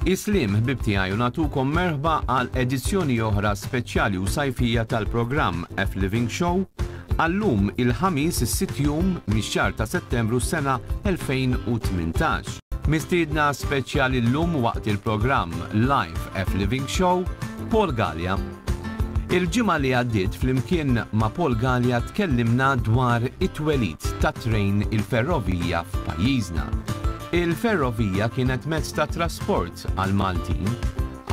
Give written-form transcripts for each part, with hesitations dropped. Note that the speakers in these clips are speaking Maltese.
Is-sliem ħbieb tiegħi u nagħtukom merħba għal edizzjoni oħra speċjali u sajfija tal-programm F Living Show għallum il-Ħamis is-sitt jum mix-xahar ta' Settembru s-sena 2018. Mistiedna speċjali llum waqt il-programm Live F Living Show, Paul Galea. Il-ġimgħa li għaddiet flimkien ma' Paul Galea tkellimna dwar it-twelid tat-trejn il-ferrovija f'pajjiżna. Il-ferrovija kienet mezz ta' trasport għall-Maltin,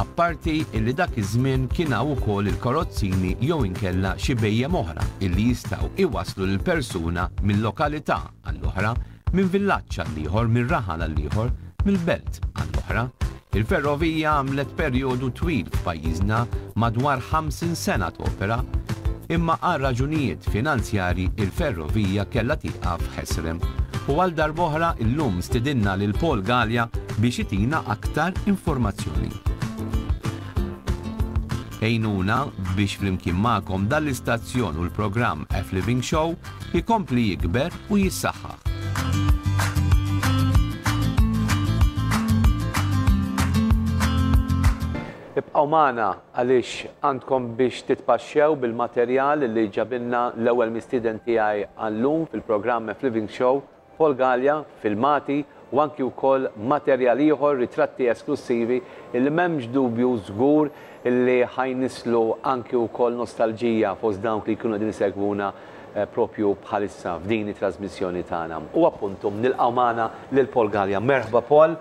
apparti illi dak iż-żmien kien hawn ukoll il-karozzini jew inkella xi bhejjem oħra illi jistgħu iwasslu lill-persuna minn lokalità għall-oħra Minn villaġġ għall-ieħor, minn raħal għall-ieħor, mill-belt għall-oħra. Il-ferrovija għamlet perjodu twil f'pajjiżna, madwar 50 sena topera. Imma għal raġunijiet finanzjarji il-ferrovija kellha tieqaf ħesrem. U għal darb'oħra illum stidinna lil Paul Galea biex itina aktar informazzjoni. Għinuna biex flimkien magħkom dan l-istazzjon u l-programm F-Living Show ikompli jikber u jissaħħaħ. Ibqgħu magħna għaliex għandkom biex titpaxxew bil-materjal li ġabilna l-ewwel mistieden tiegħi għal-lum fil-programm F-Living Show, Paul Galea, filmati u anki wkoll materjal ieħor, ritratti esklussivi illi m'hemmx dubju żgur illi ħa jnisslu anki wkoll nostalġija fost dawk li jkunu qegħdin isegwuna propju bħalissa f'din it-trasmissjoni tagħna. U appuntu nilqgħu magħna lil Paul Galea. Merħba Paul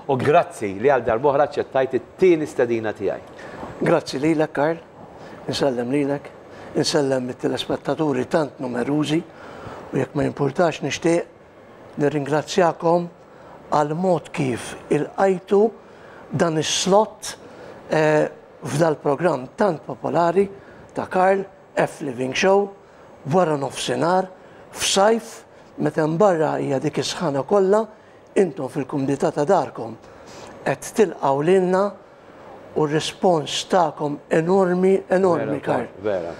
u grazzi li għal darb'oħra aċċettajt it-tieni stedina tiegħi. Grazzi lilek Karl, insellem lilek, insellem it-telespettaturi tant numerużi u jekk ma jimpurtax nixtieq Nirringrazzjakom għall-mod kif ilqajtu dan is-slot f'dal-programm tant popolari ta' Karl F. Living Show wara nofsinhar f'sajf meta hemm barra hija dik is-sħana kollha intom fil-kumdità ta' darkom qed tilqgħu lilna u r-rispons tagħkom enormi enormi Karl. Vera.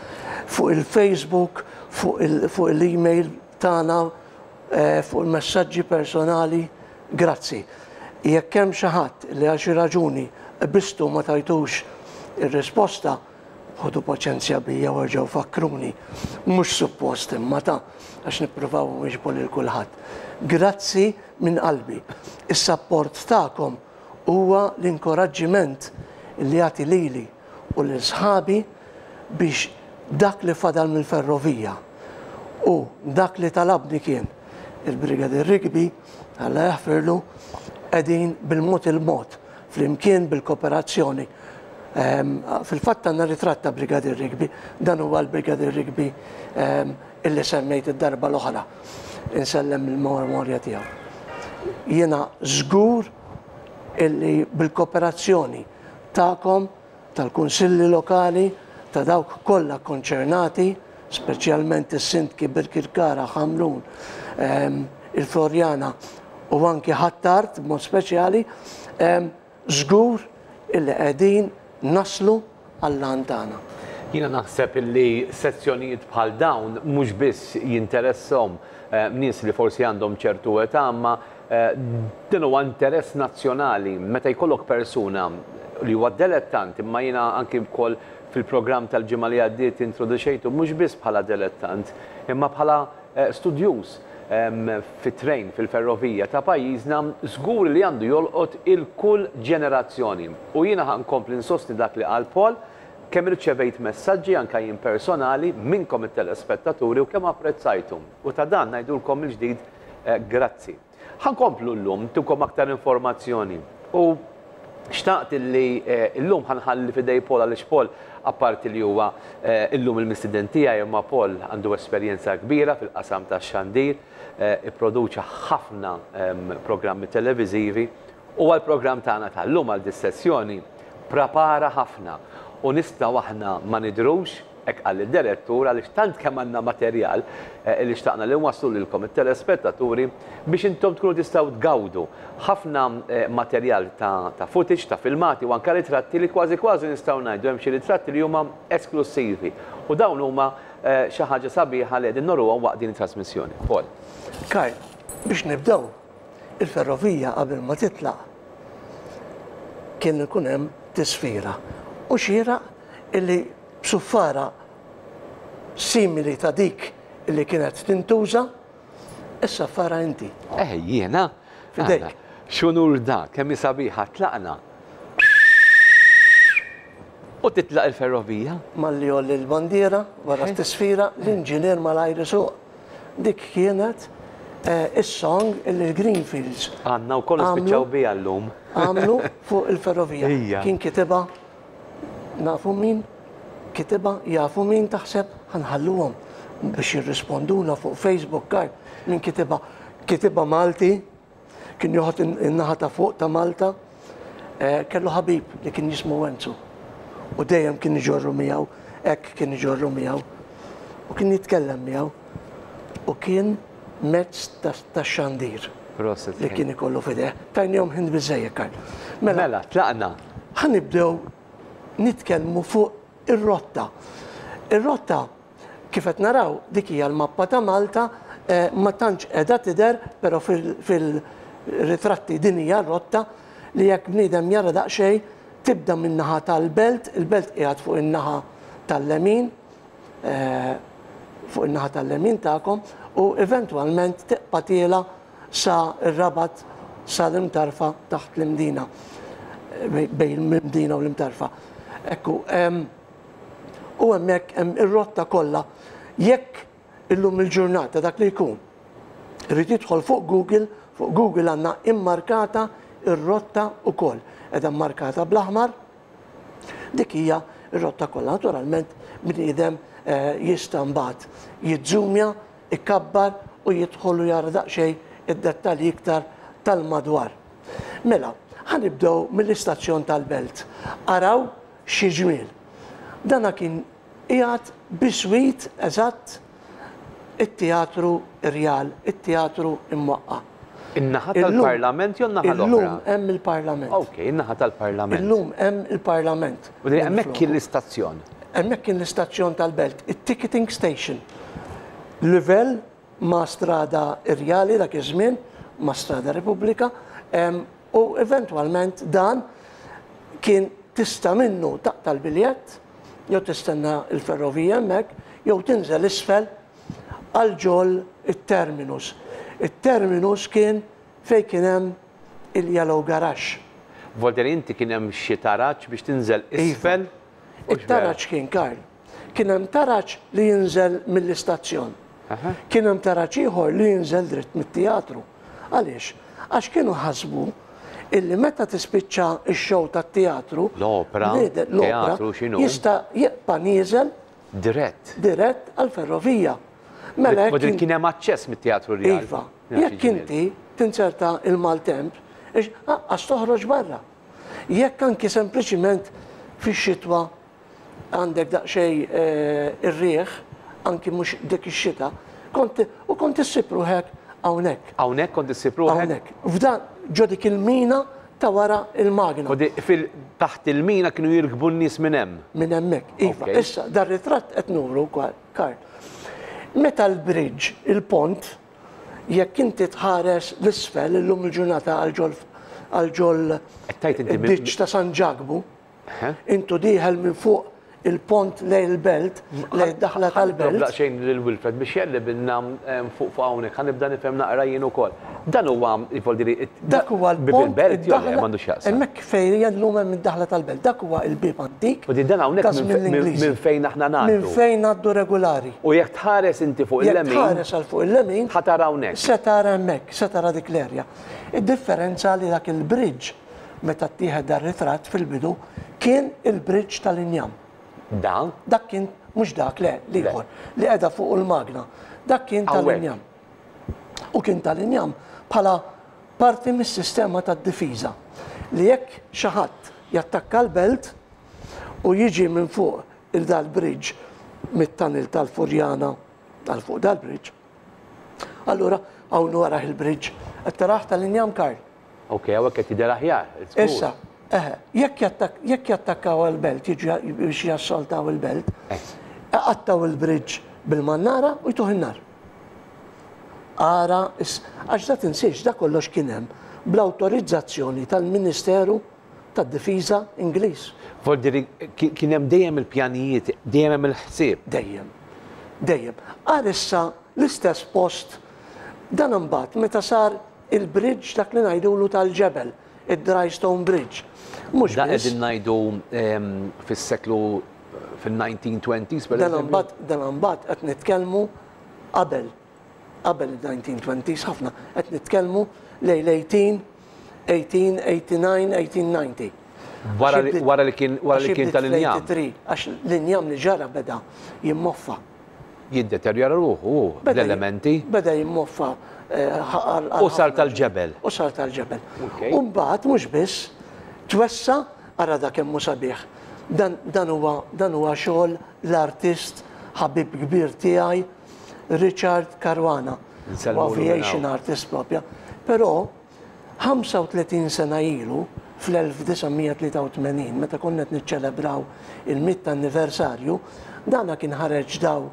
Fuq il-Facebook, fuq il-email tagħna fuq il-messaġġi personali, grazzi. Jekk hemm xi ħadd li għal xi raġuni qbiżtu ma tajtux ir-risposta, ħudu paċenzja bija u erġgħu fakkruni. Mhux suppost imma ta' għax nippruvaw nwieġbu lil kulħadd. Grazzi minn qalbi. Is-sapport tagħkom huwa l-inkoraġġiment li jagħti lili u lil sħabi biex dak li fadal mill-ferrovija u dak li talabni kien il-Brigadier Rigby, Alla jaħfirlu, qegħdin bil-mod il-mod, flimkien bil-kooperazzjoni. Ehm, fil-fatt għandna ritratt ta' Brigadier Rigby, dan huwa l-Brigadier Rigby ehm, illi semmejt id-darba l-oħra. Insellem il-memorja tiegħu. Jiena żgur illi bil-kooperazzjoni tagħkom, tal-kunsilli lokali, ta' dawk kollha kkonċernati, speċjalment is-sindki Birkirkara, Ħamrun, il-Floriana u anki Ħ'Attard b'mod speċjali, żgur illi qegħdin naslu għall-għan tagħna. Jiena naħseb illi sezzjonijiet bħal dawn mhux biss jinteresshom nies li forsi għandhom ċertu età imma Dan huwa interess nazzjonali. Meta jkollok persuna li huwa delettant, imma jiena anki wkoll fil-programm tal-ġimgħa li għaddiet introduċejtu mhux biss bħala delettant, imma bħala studjuż fit-trejn, fil-ferrovija ta' pajjiżna, żgur li għandu jolqot il-kull ġenerazzjoni. U jiena ħa nkompli nsostni dak li qal Paul, kemm irċevejt messaġġi anke jien personali minnkom it-telespettaturi u kemm apprezzajtu. U ta' dan ngħidulkom mill-ġdid Grazzi. Ħa nkomplu llum ntukom aktar informazzjoni. U xtaqt illi llum ħa nħalli f'idej Paul għaliex Paul apparti li huwa llum il-mistieden tiegħi imma Paul għandu esperjenza kbira fil-qasam tax-xandir, ipproduċa ħafna programmi televiżivi u għall-programm tagħna tal-lum għal dis-sessjoni prapara ħafna u nistgħu aħna ma nidhrux Hekk qal id-direttur għaliex tant kemm għandna materjal li xtaqna li nwasslu lilkom it-telespettaturi biex intom tkunu tistgħu tgawdu ħafna materjal ta' footage, ta' filmati u anke ritratti li kważi kważi nistgħu ngħidu hemm xi ritratti li huma esklussivi u dawn huma xi ħaġa sabiħa li qegħdin noruhom waqt din it-trasmissjoni. Paul. Karl, biex nibdew, il-ferrovija qabel ma titlaq. Kien ikun hemm tisfira. U xieraq illi b'suffara simili ta' dik illi kienet tintuża, issaffara inti. Eh, jiena? F'idejk. X'unur da, kemm hi sabiħa, tlaqna. U titlaq il-ferrovija. Malli jgħolli l-bandiera wara t-tisfira, l-inġinier malajr isuq. Dik kienet is-song illi l-Greenfields. Għandna wkoll nispiċċaw biha llum. Għamlu fuq il-ferrovija. Kien kitibha nafu min kitibha, jafu min taħseb, ħa nħalluhom biex jirrisponduna fuq Facebook, Karl, min kitibha. Kitibha Malti, Kien joħod in-naħa ta' fuq ta' Malta. Kellu ħabib li kien jismu Wenzu. U dejjem kien iġorru miegħu, hekk kien iġorru miegħu. U kien jitkellem miegħu. U kien mezz ta' xandir. Prosit. Li kien ikollu f'idejh. Tajnihom ħin biżżejjed, Karl. Mela, mela, tlaqna. Ħa nibdew nitkellmu fuq ir-rotta. Ir-rotta Kif qed naraw, dik hija l-mappa ta' Malta, ma tantx qiegħda tidher, però fil-ritratti din hija r-rotta li jekk bniedem jara daqsxejn tibda min-naħa tal-Belt, il-Belt qiegħed fuq in-naħa tal-lemin, fuq in-naħa tal-lemin tagħkom, u eventwalment tibqa' tiela' sa r-Rabat sa l-Imtarfa taħt l-Imdina, bejn l-Imdina u l-Imtarfa. Ekku, U hemmhekk hemm ir-rotta kollha. Jekk illum il-ġurnata dak li jkun irid jidħol fuq Google, fuq Google għandna immarkata r-rotta wkoll. Qiegħda mmarkata bl-aħmar. Dik hija r-rotta kollha. Naturalment bniedem jista' mbagħad jiżżumja, ikabbar u jidħol u jara daqsxejn id-dettalji iktar tal-madwar. Mela, ħa nibdew mill-istazzjon tal-Belt. Araw Xi ġmiel! Dana kien qiegħed biswit eżatt it-Teatru Rjal, it-teatru imwaqqa'. In-naħa tal-Parlament jew n-naħa l-oħra? Illum hemm il-Parlament. Ok, in-naħa tal-Parlament. Illum hemm il-Parlament. U hemmhekk kien l-istazzjon? Hemmhekk kien l-istazzjon tal-Belt, it-ticketing station. Livell ma' Strada Rjali dak iż-żmien, ma' Strada Repubblika, u eventwalment dan kien tista' minnu taqta' l-biljett, jew tistenna l-ferrovija hemmhekk, jew tinżel isfel għal ġol it-terminus. It-terminus kien fejn kien hemm il-Yellow Garage. Voldieri inti kien hemm xi taraġ biex tinżel isfel? Iva. It-taraġ kien, Karl, Kien hemm taraġ li jinżel mill-istazzjon. Kien hemm taraġ ieħor li jinżel dritt mit-teatru. Għaliex? Għax kienu ħasbu illi meta tispiċċa x-show tat-teatru, L-opra, teatru, x'inhu? jista' jibqa' nieżel Dirett. dirett għall-ferrovija. Mela jekk Kien hemm aċċess mit-Teatru Rjal. Iva. Jekk inti tinzerta l-maltemp, aqqas toħroġ barra. Jekk anki sempliċiment fix-xitwa għandek daqsxejn ir-riħ, anki mhux dik ix-xita, kont u kont issib ruħek hawnhekk. Hawnhekk kont issib ruħek? Hawnhekk. F'dan ġo dik il-mina ta' wara il-magna. U fil taħt il-mina kienu jirkbu n-nies minn hemm? Minn hemmhekk, iva. Issa, dar-ritratt qed nuru, Karl. Meta l-bridge, il-pont, jekk inti tħares l-isfel illum il-ġurnata għal ġol għal ġol id-ditch ta' San Ġakbu, Intu dieħel minn fuq il-pont lejn il-belt, lejn id-daħla tal-belt. Ħa nitlob daqsxejn lil Wilfred biex jeqlibilna fuq fuq hawnhekk, ħa nibda nifhem naqra jien ukoll. Dan huwa, jivoldi li, Dak huwa l-pont. Bieb il-belt jew le, m'għandux x'jaqsam. Hemmhekk fejn hija llum hemm id-daħla tal-belt. Dak huwa l-bieb antik. U dan hawnhekk minn fejn aħna ngħaddu. Minn fejn ngħaddu regolari. U jekk tħares inti fuq il-lemin. Jekk tħares għal fuq il-lemin. Ħa tara hawnhekk. Se tara hemmhekk, se tara dik l-erja. Id-differenza li dak il-bridge Meta ttieħed dar-ritratt fil-bidu kien il-bridge tal-injam. Dan? Dak kien, mhux dak, le, l-ieħor, li qiegħda fuqu l-magna. Dak kien tal-injam. U kien tal-injam bħala parti mis-sistema tad-difiża li jekk xi ħadd jattakka l-belt u jiġi minn fuq il-dal-bridge mit-tunnel tal-Furjana għal fuq dal-bridge, allura hawn warah il-bridge qed tarah tal-injam Karl. Ok, hawnhekk qed jidher aħjar. Issa, eħe, jekk jattakkaw għall-belt, jiġu biex jassaltaw il-belt, iqattgħu il-bridge bil-mannara u jtuh in-nar. Ara, għax da tinsiex, da kollox kien hemm bl-awtorizzazzjoni tal-Ministeru tad-difiża Ingliż. Vuol dire kien hemm dejjem il-pjanijiet, dejjem hemm il-ħsieb. Dejjem. Dejjem. Għal issa l-istess post dan imbagħad meta sar il-bridge dak li ngħidulu tal-ġebel, id-Dry Stone Bridge. Mhux Dan qegħdin ngħidu fis-seklu fil-1920s per Dan imbagħad dan imbagħad qed nitkellmu qabel qabel il-1920s ħafna, qed nitkellmu lejn l-18, 1889, 1890. Wara li kien wara li kien tal-injam. Għax l-injam li ġara beda jimmoffa. Jiddeterjora ruħu hu bl-elementi. Beda jimmoffa. U sar tal-ġebel. U sar tal-ġebel. U mbagħad mhux biss twessa' ara da kemm hu sabiħ. Dan huwa dan huwa xogħol l-artist ħabib kbir tiegħi Richard Caruana. U aviation artist propja. Però 35 sena ilu, fl-1983, meta konna qed niċċelebraw il-mitt anniversarju, dana kien ħareġ daw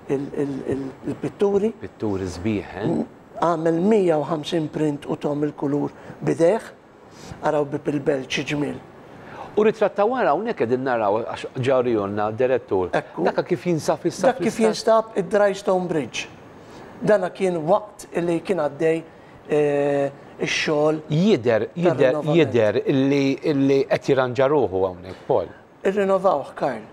il-pitturi. Pitturi sbieħ, eh? Għamel 150 print u tom il-kulur b'idejh. Araw Bieb il-Belt xi ġmiel. U ritratt ta' wara hawnhekk qegħdin naraw għax ġa uriehulna d-direttur. Ekku. Dak kif jinsab issa. Dak kif jinstab id-Dry Stone Bridge. Dana kien waqt li kien għaddej ix-xogħol. Jidher, jidher, jidher illi qed jirranġa ruħu hawnhekk, Paul. Irrinovawh, Karl.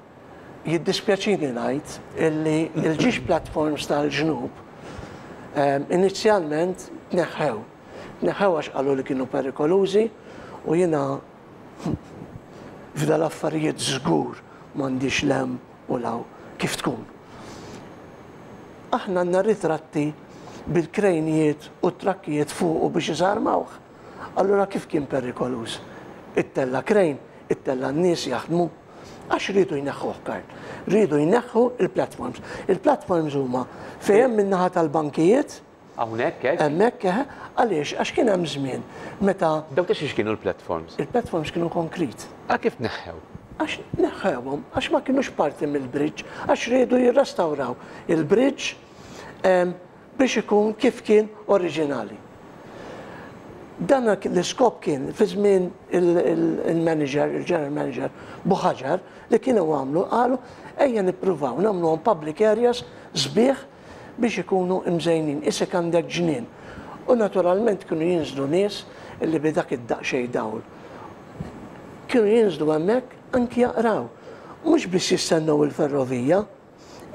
Jiddispjaċini ngħid illi l-ġiex platforms tal-ġnub inizjalment tneħħew. Tneħħew għax qalu li kienu perikolużi u jiena f'dal-affarijiet żgur m'għandix 'l hemm u 'l hawn kif tkun. Aħna għandna ritratti bil-krejnijiet u t-trakkijiet fuqu biex iżarmawh. Allura kif kien perikoluż? Ittella' krejn, ittella' n-nies jaħdmu. Għax riedu jneħħuh, Karl. Riedu jneħħu il-platforms. Il-platforms huma fejn hemm min-naħa tal-bankijiet. Hawnhekk hekk? Hemmhekk, eħe. Għaliex? Għax kien hemm żmien meta. Dawk ta' xiex kienu l-platforms? Il-platforms kienu konkrit. Għal kif tneħħew? Għax neħħewhom, għax ma kinux parti mill-bridge, għax riedu jirrestawraw il-bridge biex ikun kif kien oriġinali. Dan l-iskop kien fi żmien il-manager, il-general manager Buħaġar, li kienu għamlu, qalu ejja nippruvaw nagħmluhom public areas sbieħ biex ikunu imżejnin, isek għandek ġnien. U naturalment kienu jinżlu nies illi bi dak id-daqsxejn dawl. Kienu jinżlu hemmhekk anki jaqraw. Mhux biss jistennew il-ferrovija,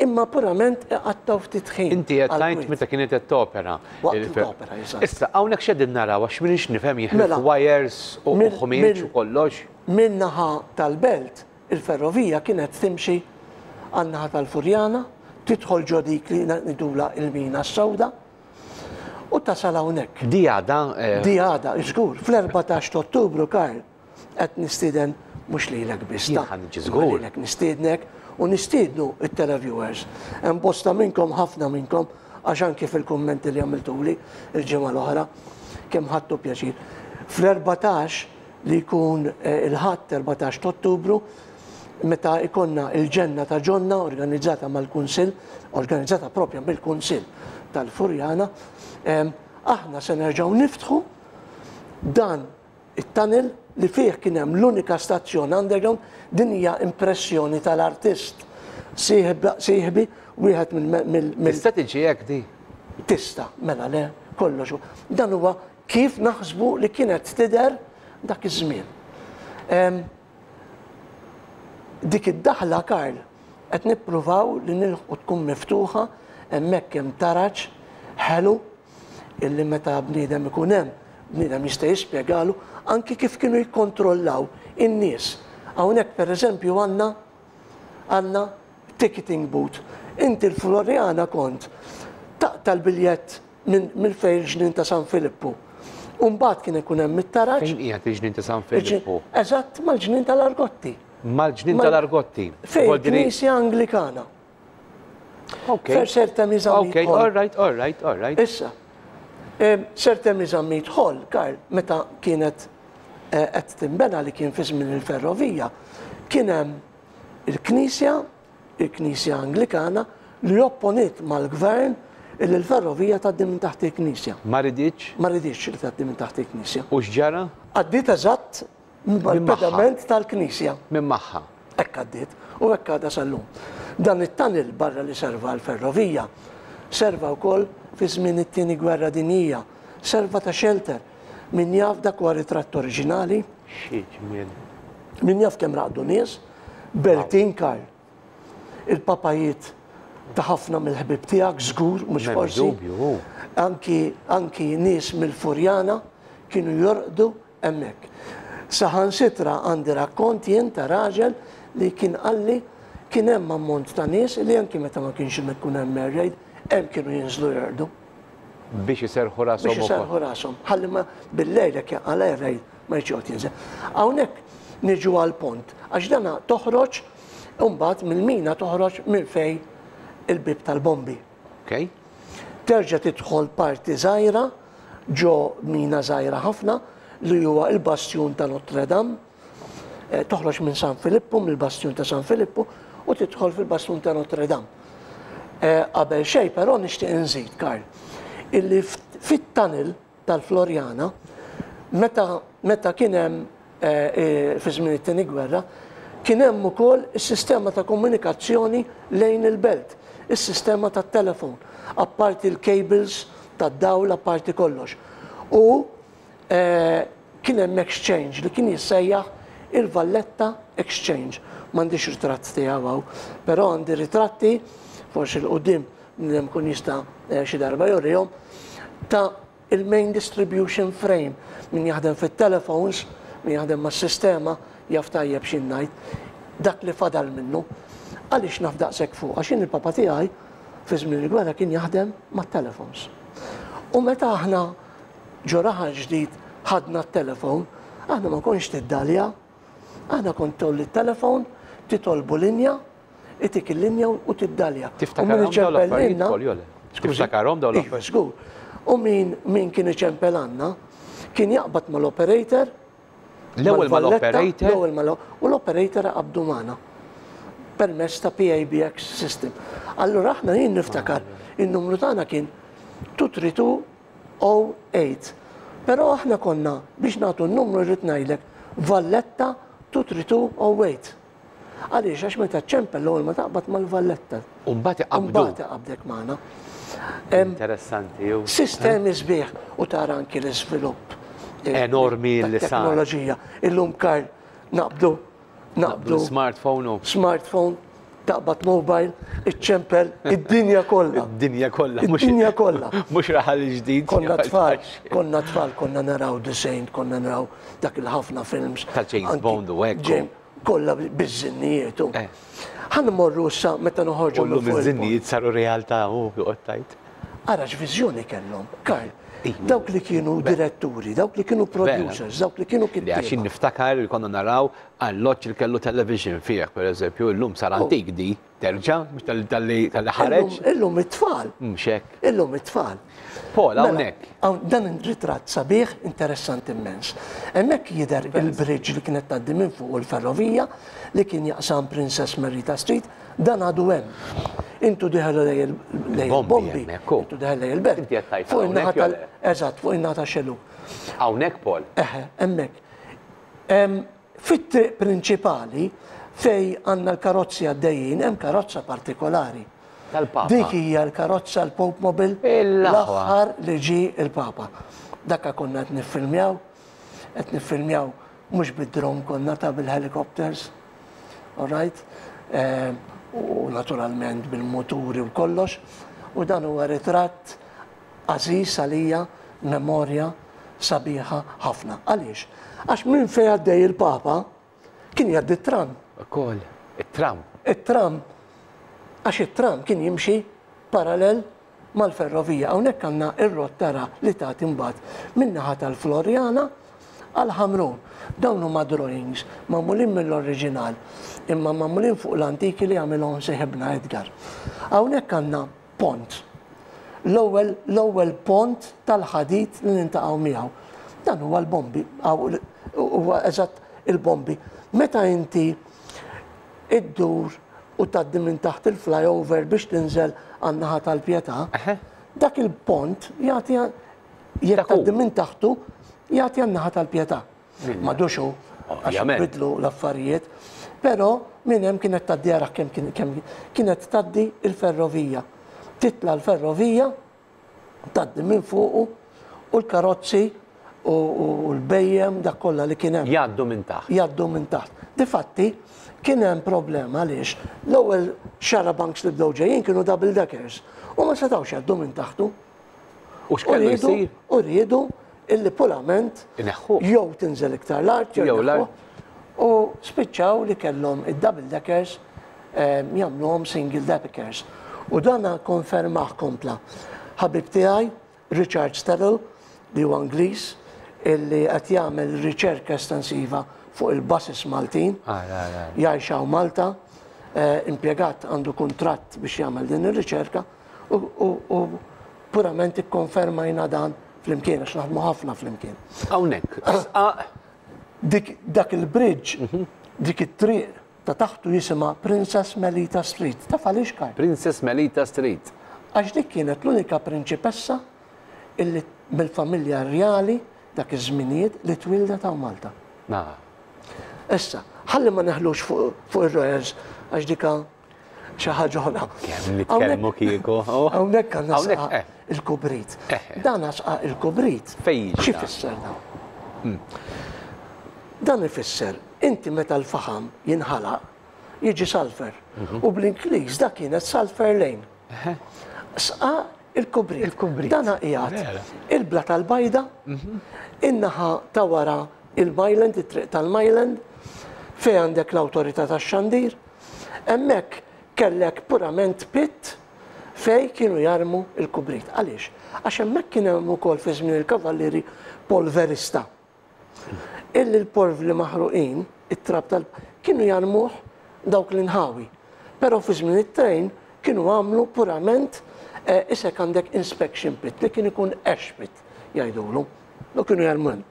imma purament iqattgħu ftit ħin. Inti qed tgħid meta kienet qed topera. Waqt li topera, eżatt. Issa, hawnhekk x'qegħdin naraw għax m'iniex nifhem jien mela, wires u ħmieġ u kollox. Min-naħa tal-belt, Il-ferrovija kienet timxi għan-naħa tal-Furjana, tidħol ġo dik li ngħidulha il-Mina s-Sewda u tasal hawnhekk. Di għadha? Di għadha, żgur. Fl-14 ta' Ottubru, Karl, qed nistieden mhux lilek biss. Jien ħa niġi żgur. Lilek nistiednek u nistiednu t-televiewers. Hemm bosta minnkom, ħafna minnkom, għax anki fil-kummenti li għamiltuli l-ġimgħa l-oħra, kemm ħadtu pjaċir. Fl-14 li jkun il-Ħadd 14 ta' Ottubru meta jkollna il-Ġenna ta' Ġonna organizzata mal-Kunsill, organizzata propja mill-Kunsill tal-Furjana, aħna se nerġgħu niftħu dan it-tunnel li fih kien hemm l-unika stazzjon underground, din hija impressjoni tal-artist sieħbi wieħed mill Tista' tiġi hekk di? Tista', mela le, kollox. Dan huwa Kif naħsbu li kienet tidher dak iż-żmien. Dik id-daħla, Karl, qed nippruvaw li nilħqu tkun miftuħa, hemmhekk hemm taraġ ħelu illi meta bniedem ikun hemm, bniedem jista' jispjegalu anki kif kienu jikkontrollaw in-nies. Hawnhekk pereżempju għandna għandna ticketing booth. Inti l-Floriana kont taqta' l-biljett minn fejn il-ġnien ta' San Filippu. U mbagħad kien ikun hemm it-taraġ. Fejn qiegħed il-ġnien ta' San Filippu? Eżatt mal-ġnien tal-Argotti. Mal-ġnien tal-Argotti. Fejn il-Knisja Anglikana. Ok. Fejn Sir Temi Zammit. Ok, all right, all right, all right. Issa, Sir Temi Zammit Hall, Karl, meta kienet eh, qed tinbena li kien fi żmien il-ferrovija, kien hemm il-Knisja il-Knisja Anglikana li opponiet mal-Gvern illi l-ferrovija tgħaddi minn taħt il-Knisja. Ma riditx? Ma riditx li tgħaddi minn taħt il-Knisja. U x'ġara? Għaddiet eżatt Mal-pedament tal-knisja. Minn magħha. Hekk għaddiet u hekk għadha sal-lum. Dan it-tunnel barra li serva għall-ferrovija, serva wkoll fi żmien it-Tieni Gwerra Dinjija, serva ta' shelter. Min jaf dak huwa ritratt oriġinali. Xi ġmiel. Min jaf kemm raqdu nies, Beltin Karl. Il-papajiet ta' ħafna mill-ħbieb tiegħek żgur mhux forsi. Dubju. Anki anki nies mill-Furjana kienu jorqdu hemmhekk. Saħansitra għandi rakkont jien ta' raġel li kien qalli kien hemm ammont ta' nies li anki meta ma kienx ikun hemm air raid, hemm kienu jinżlu jorqdu. Biex iserrħu rashom Biex iserrħu rashom. Ħalli ma bil-lejl jekk jaqa' l-air raid ma jridx joqgħod jinżel. Hawnhekk niġu għall-pont għax dana toħroġ imbagħad mill-mina toħroġ minn fejn il-bieb tal-bombi. Okay. Terġa' tidħol parti żgħira ġo mina żgħira ħafna li huwa l-bastjun ta' Notre Dame. Eh, toħroġ minn San Filippu, mill-bastjun ta' San Filippu, u tidħol fil-bastjun ta' Notre Dame. Eh, qabel xejn però nixtieq inżid, Karl, illi fit-tunnel tal-Floriana, meta meta kien hemm fi żmien it-Tieni Gwerra, kien hemm ukoll is-sistema ta' komunikazzjoni lejn il-belt, is-sistema tat-telefon, apparti l-cables tad-dawl, apparti kollox. U kien hemm exchange li kien jissejjaħ il-Valletta Exchange. M'għandix ritratt tiegħu hawn, però għandi ritratti, forsi 'l quddiem bniedem ikun jista' xi darba jurihom, ta' il-main distribution frame. Min jaħdem fit-telephones, min jaħdem mas-sistema, jaf tajjeb x'jien ngħid. Dak li fadal minnu. Għaliex naf daqshekk fuq? Għax jien il-papa tiegħi fi żmien il-gwerra kien jaħdem mat-telephones. U meta aħna ġo raħal ġdid ħadna t-telefon, aħna ma konx tiddalja, aħna kont tgħolli t-telefon, titolbu linja, itik il-linja u tiddalja. Tiftakarhom dawn l-affarijiet, Paul, jew le? Tiftakarhom dawn l-affarijiet? Iva, żgur. U min min kien iċempel għandna, kien jaqbad mal-operator. L-ewwel mal-operator? L-ewwel mal u l-operator iqabbdu magħna permezz ta' PABX system. Allura aħna jien niftakar in-numru tagħna kien 232 08. Però aħna konna biex nagħtu n-numru rrid ngħidlek Valletta 23208. Għaliex? Għax meta ċċempel l-ewwel ma taqbad mal-Valletta. U mbagħad iqabbdu. Mbagħad iqabbdek magħna. Interessanti. Sistemi sbieħ u tara anki l-iżvilupp. Enormi li sar. Teknoloġija. Illum Karl naqbdu naqbdu. Smartphone u. Smartphone, taqbad mobile, iċċempel id-dinja kollha. Id-dinja kollha. Id-dinja kollha. Mhux raħal ġdid. Konna tfal, konna tfal, konna naraw The Saint, konna naraw dak il-ħafna films. Ta' James Bond u hekk. Kollha biż-żinnijiet u. Eh. Ħa nmorru issa meta noħorġu. Kollhom iż-żinnijiet saru realtà u joqgħod tajt. Ara x'viżjoni kellhom, Karl. Dawk li kienu diretturi, dawk li kienu producers, dawk li kienu kittieba. Għax niftakar li konna naraw alloġġ li kellu television fih, per eżempju, illum sar oh. antik di. Terġa', mhux talli ħareġ. Illum it-tfal. Mhux hekk. Illum it-tfal. Paul, mela, hawnhekk. Dan ritratt sabiħ, interessanti immens. Hemmhekk jidher il-bridge li kienet tgħaddi minn fuq il-ferrovija li kien jaqsam Princess Marita Street, dan għadu hemm. Intu diħel lej il-bombi. Intu diħel lej il-belt. Fuq in-naħa tal. Eżatt, fuq in-naħa ta' xelu. Hawnhekk, Paul. Eħe, hemmhekk. Fit-triq prinċipali fejn għandna l-karozzi għaddejjin hemm karozza partikolari. Tal-Papa. Dik hija l-karozza l-Pope Mobile l-aħħar li ġie l-Papa. Dakka konna qed niffilmjaw, qed niffilmjaw mhux bid-drone konna ta' bil-helicopters. All right? Eh, u naturalment bil-muturi u kollox. U dan huwa ritratt Għażiż għalija, memorja sabiħa ħafna. Għaliex? Għax minn fejn għaddej il-Papa kien jgħaddi t-tram. Ukoll, it-tram. It-tram. Għax it-tram kien jimxi parallel mal-ferrovija. Hawnhekk għandna r-rotta li tagħti mbagħad min-naħa tal-Floriana għal Ħamrun. Dawn huma drawings magħmulin mill-oriġinal imma magħmulin fuq l-antiki li għamilhom seħibna Edgar. Hawnhekk għandna pont. L-ewwel l-ewwel pont tal-ħadid li niltaqgħu miegħu. Dan huwa l-bombi, huwa eżatt il-bombi. Meta inti iddur u tgħaddi minn taħt il-flyover biex tinżel għan-naħa tal-Pietà, dak il-pont jagħti jekk tgħaddi minn taħtu jagħti għan-naħa tal-Pietà. M'għadux hu. Għax bidlu l-affarijiet. Però minn hemm kienet tgħaddi ara kemm kemm kienet tgħaddi il-ferrovija. Titla' l-ferrovija, tgħaddi minn fuqu u l-karozzi u l-bhejjem dak kollha li kien hemm. Jgħaddu minn taħt. Jgħaddu minn taħt. Difatti, kien hemm problema għaliex l-ewwel xarabanks li bdew ġejjin kienu double deckers u ma setgħux jgħaddu minn taħtu. U x'kellu jsir? U riedu illi purament Ineħħuh. jew tinżel iktar l-art jew Jew l-art. ineħħuh. U spiċċaw li kellhom id-double deckers jagħmluhom single deckers. U dana konfermah kompla ħabib tiegħi Richard Sterrill li huwa Ingliż illi qed jagħmel riċerka estensiva fuq il-buses Maltin. Jgħix hawn Malta, impjegat għandu kuntratt biex jagħmel din ir-riċerka u purament ikkonfermajna dan flimkien għax naħdmu ħafna flimkien. Hawnhekk, sqaq. Dik dak il-bridge, dik it-triq ta' taħtu jisimha Princess Melita Street. Taf għaliex, Karl? Princess Melita Street. Għax dik kienet l-unika prinċipessa illi mill-familja rjali dak iż-żminijiet li twieldet hawn Malta. Issa, ħalli ma neħlux fuq ir-Royals għax dika xi ħaġa oħra. Kemm nitkellmu kieku. Hawnhekk għandna sqaq eh. il-kubrit. Eh. Dan sqaq il-kubrit. Fejn Xi fisser dan? Hmm. Dan ifisser inti meta l-faħam jinħalaq jiġi sulfur. Mhm. U bl-Ingliż dak kienet sulfur lane. Sqaq il-kubrit. Il-kubrit. Dana qiegħed il-bla tal-bajda, mhm. in-naħa ta' wara il-Myland, it-triq tal-Myland, fejn għandek l-awtorità tax-xandir. Hemmhekk kellek purament pit fejn kienu jarmu il-kubrit. Għaliex? Għax hemmhekk kien hemm ukoll fi żmien il-kavallieri polverista. Illi l-porvli maħruqin, it-trab tal kienu jarmuh dawk l-inħawi. Però fi żmien it-trejn kienu għamlu purament eh, isek għandek inspection pit li kien ikun ash pit jgħidulu. U kienu jarmu hemm.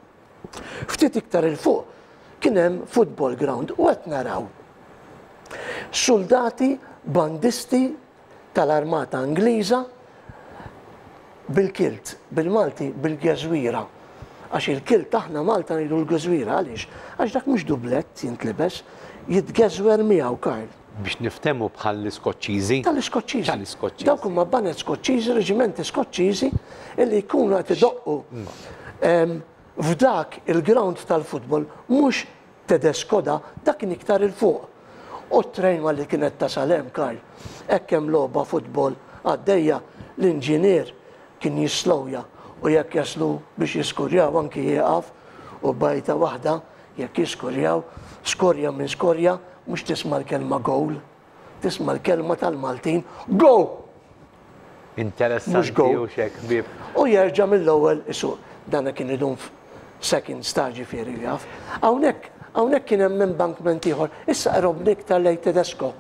Ftit iktar 'il fuq kien hemm football ground u qed naraw soldati bandisti tal-armata Ingliża bil-kilt, bil-Malti bil-geżwira. Għax il-kilt aħna Malta ngħidu l-geżwira għaliex? Għax dak mhux dublett jintlibes, jitgeżwer miegħu Karl. Biex niftehmu bħall-Iskoċċiżi? Tal-Iskoċċiżi. Tal-Iskoċċiżi. Dawk huma baned Skoċċiżi, reġimenti Skoċċiżi illi jkunu qed idoqqu f'dak il-ground tal-futbol mhux Tedesco da, dak kien iktar 'il fuq. U t-train malli kienet tasal hemm, Karl, hekk hemm logħba futbol għaddejja, l-inġinier kien jislowja u jekk jaslu biex jiskurjaw anki jieqaf u b'għajta waħda jekk jiskurjaw, skorja min skorja, mhux tisma' l-kelma goal, tisma' l-kelma tal-Maltin, go! Interessanti u xek ħbieb. U jerġa' mill-ewwel isuq. Dana kien idum seconds ta' ġifieri jaf. Hawnhekk hawnhekk kien hemm embankment ieħor. Issa qrobni iktar lejn Tedesco.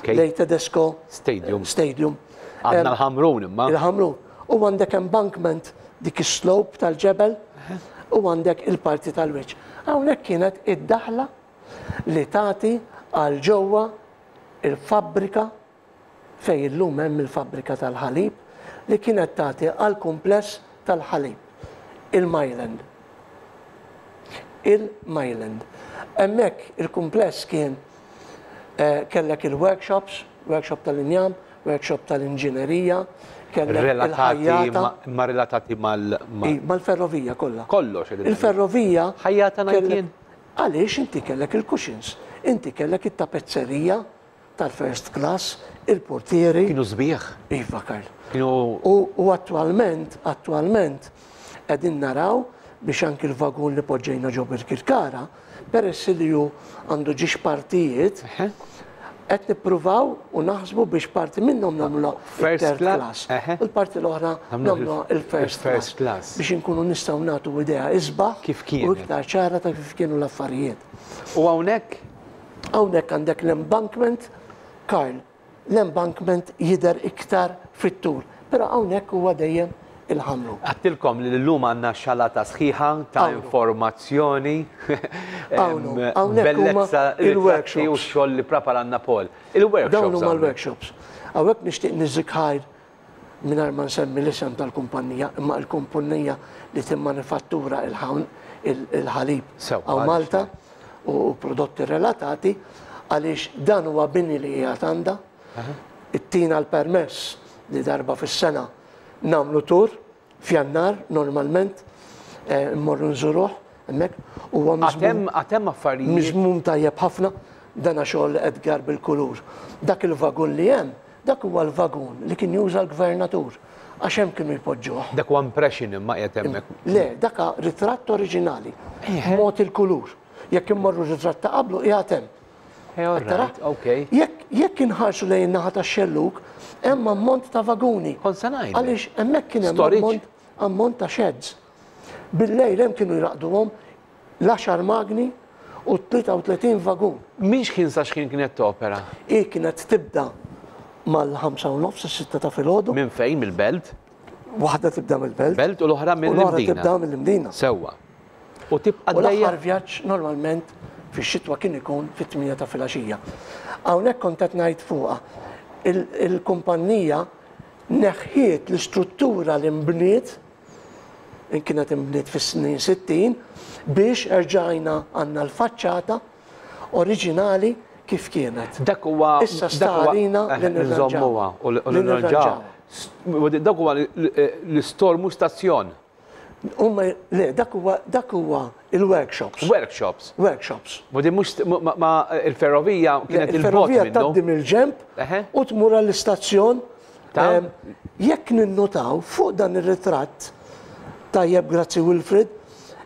Lejn Tedesco Stadium. Stadium. Għandna l-Ħamrun imma. Il-Ħamrun. U għandek embankment dik is-slope tal-ġebel u għandek il-parti tal-wiċċ. Hawnhekk kienet id-daħla li tagħti għal ġewwa il-fabbrika fejn illum hemm il-fabbrika tal-ħalib li kienet tagħti għall-kumpless tal-ħalib, il-Myland. Il-Myland. Hemmhekk il-kumpless kien eh, kellek il-workshops, workshop tal-injam, workshop tal-inġinerija, kellek il-ħajjata. Ma relatati mal. Mal-ferrovija kollha. Kollox. Il-ferrovija. Ħajjata ngħid Għaliex inti kellek il-cushions, inti kellek it-tapezzerija tal-first class, il-portieri. Kienu sbieħ. Iva, Karl. Kienu. U attwalment, attwalment, qegħdin naraw biex anki l-vagun li poġġejna ġo Birkirkara, peress li hu għandu ġiex partijiet, qed nippruvaw u naħsbu biex parti minnhom nagħmluha first class u l-parti l-oħra nagħmluha il-first class biex inkunu nistgħu nagħtu idea isbaħ kif kien u iktar ċara ta' kif kienu l-affarijiet. U hawnhekk Hawnhekk għandek l-embankment, Karl, l-embankment jidher iktar fit-tul, però hawnhekk huwa dejjem il-Ħamrun. Għedtilkom li llum għandna xalata sħiħa ta' informazzjoni, bellezza, ritratti u x-xogħol li ppreparanna Paul. Il-workshops. Dawn huma l-workshops. Hawnhekk nixtieq niżżik ħajr mingħajr ma nsemmi l-isem tal-kumpannija, imma l-kumpunija li timmanifattura il-ħalib hawn Malta. u prodotti relatati għaliex dan huwa bini li qiegħed għandha. Ittina l-permess li darba fis-sena nagħmlu tur f'Jannar normalment immorru nżuruh hemmhekk huwa miżmum. Għad hemm affarijiet. Miżmum tajjeb ħafna dana xogħol Edgar bil-kulur. Dak il-vagun li hemm, dak huwa l-vagun li kien juża l-gvernatur għax hemm kienu jpoġġuh. Dak huwa impression imma qiegħed hemmhekk. Le, dak ritratt oriġinali. Mod il-kulur. Jekk immorru ritratt ta' qablu qiegħed hemm. Jekk inħarsu lejn in-naħa tax-xellug, hemm ammont ta' vaguni. Kont se ngħidlek. Għaliex hemmhekk kien hemm ammont ta' sheds. Bil-lejl hemm kienu jraqduhom l-għaxar magni u 33 vagun. Minn x'ħin sa x'ħin kienet topera? Hi kienet tibda mal-ħamsa u nofs, is-sitta ta' filgħodu. Minn fejn? Mill-Belt? Waħda tibda mill-Belt. Belt u l-oħra mill-Imdina. U l-oħra tibda mill-Imdina. Sewwa. U tibqa' għaddejja. U l-aħħar vjaġġ normalment fix-xitwa kien ikun fit-tmienja ta' filgħaxija. Hawnhekk kont qed ngħid fuqha. Il-kumpannija neħħiet l-istruttura li nbniet, kienet inbniet fis-snin 60, biex erġajna għandna l-faċċata oriġinali kif kienet. Dak huwa. Issa sta għalina li nirranġawha u li nirranġawha. Dak huwa l-istor mhux stazzjon. Huma le, dak huwa dak huwa il-workshops. Workshops. Workshops. Ma din mhux ma il-ferrovija kienet il-bogħod Il-ferrovija tgħaddi mill-ġenb u tmur għall-istazzjon. Jekk ninnotaw fuq dan ir-ritratt, tajjeb grazzi Wilfred,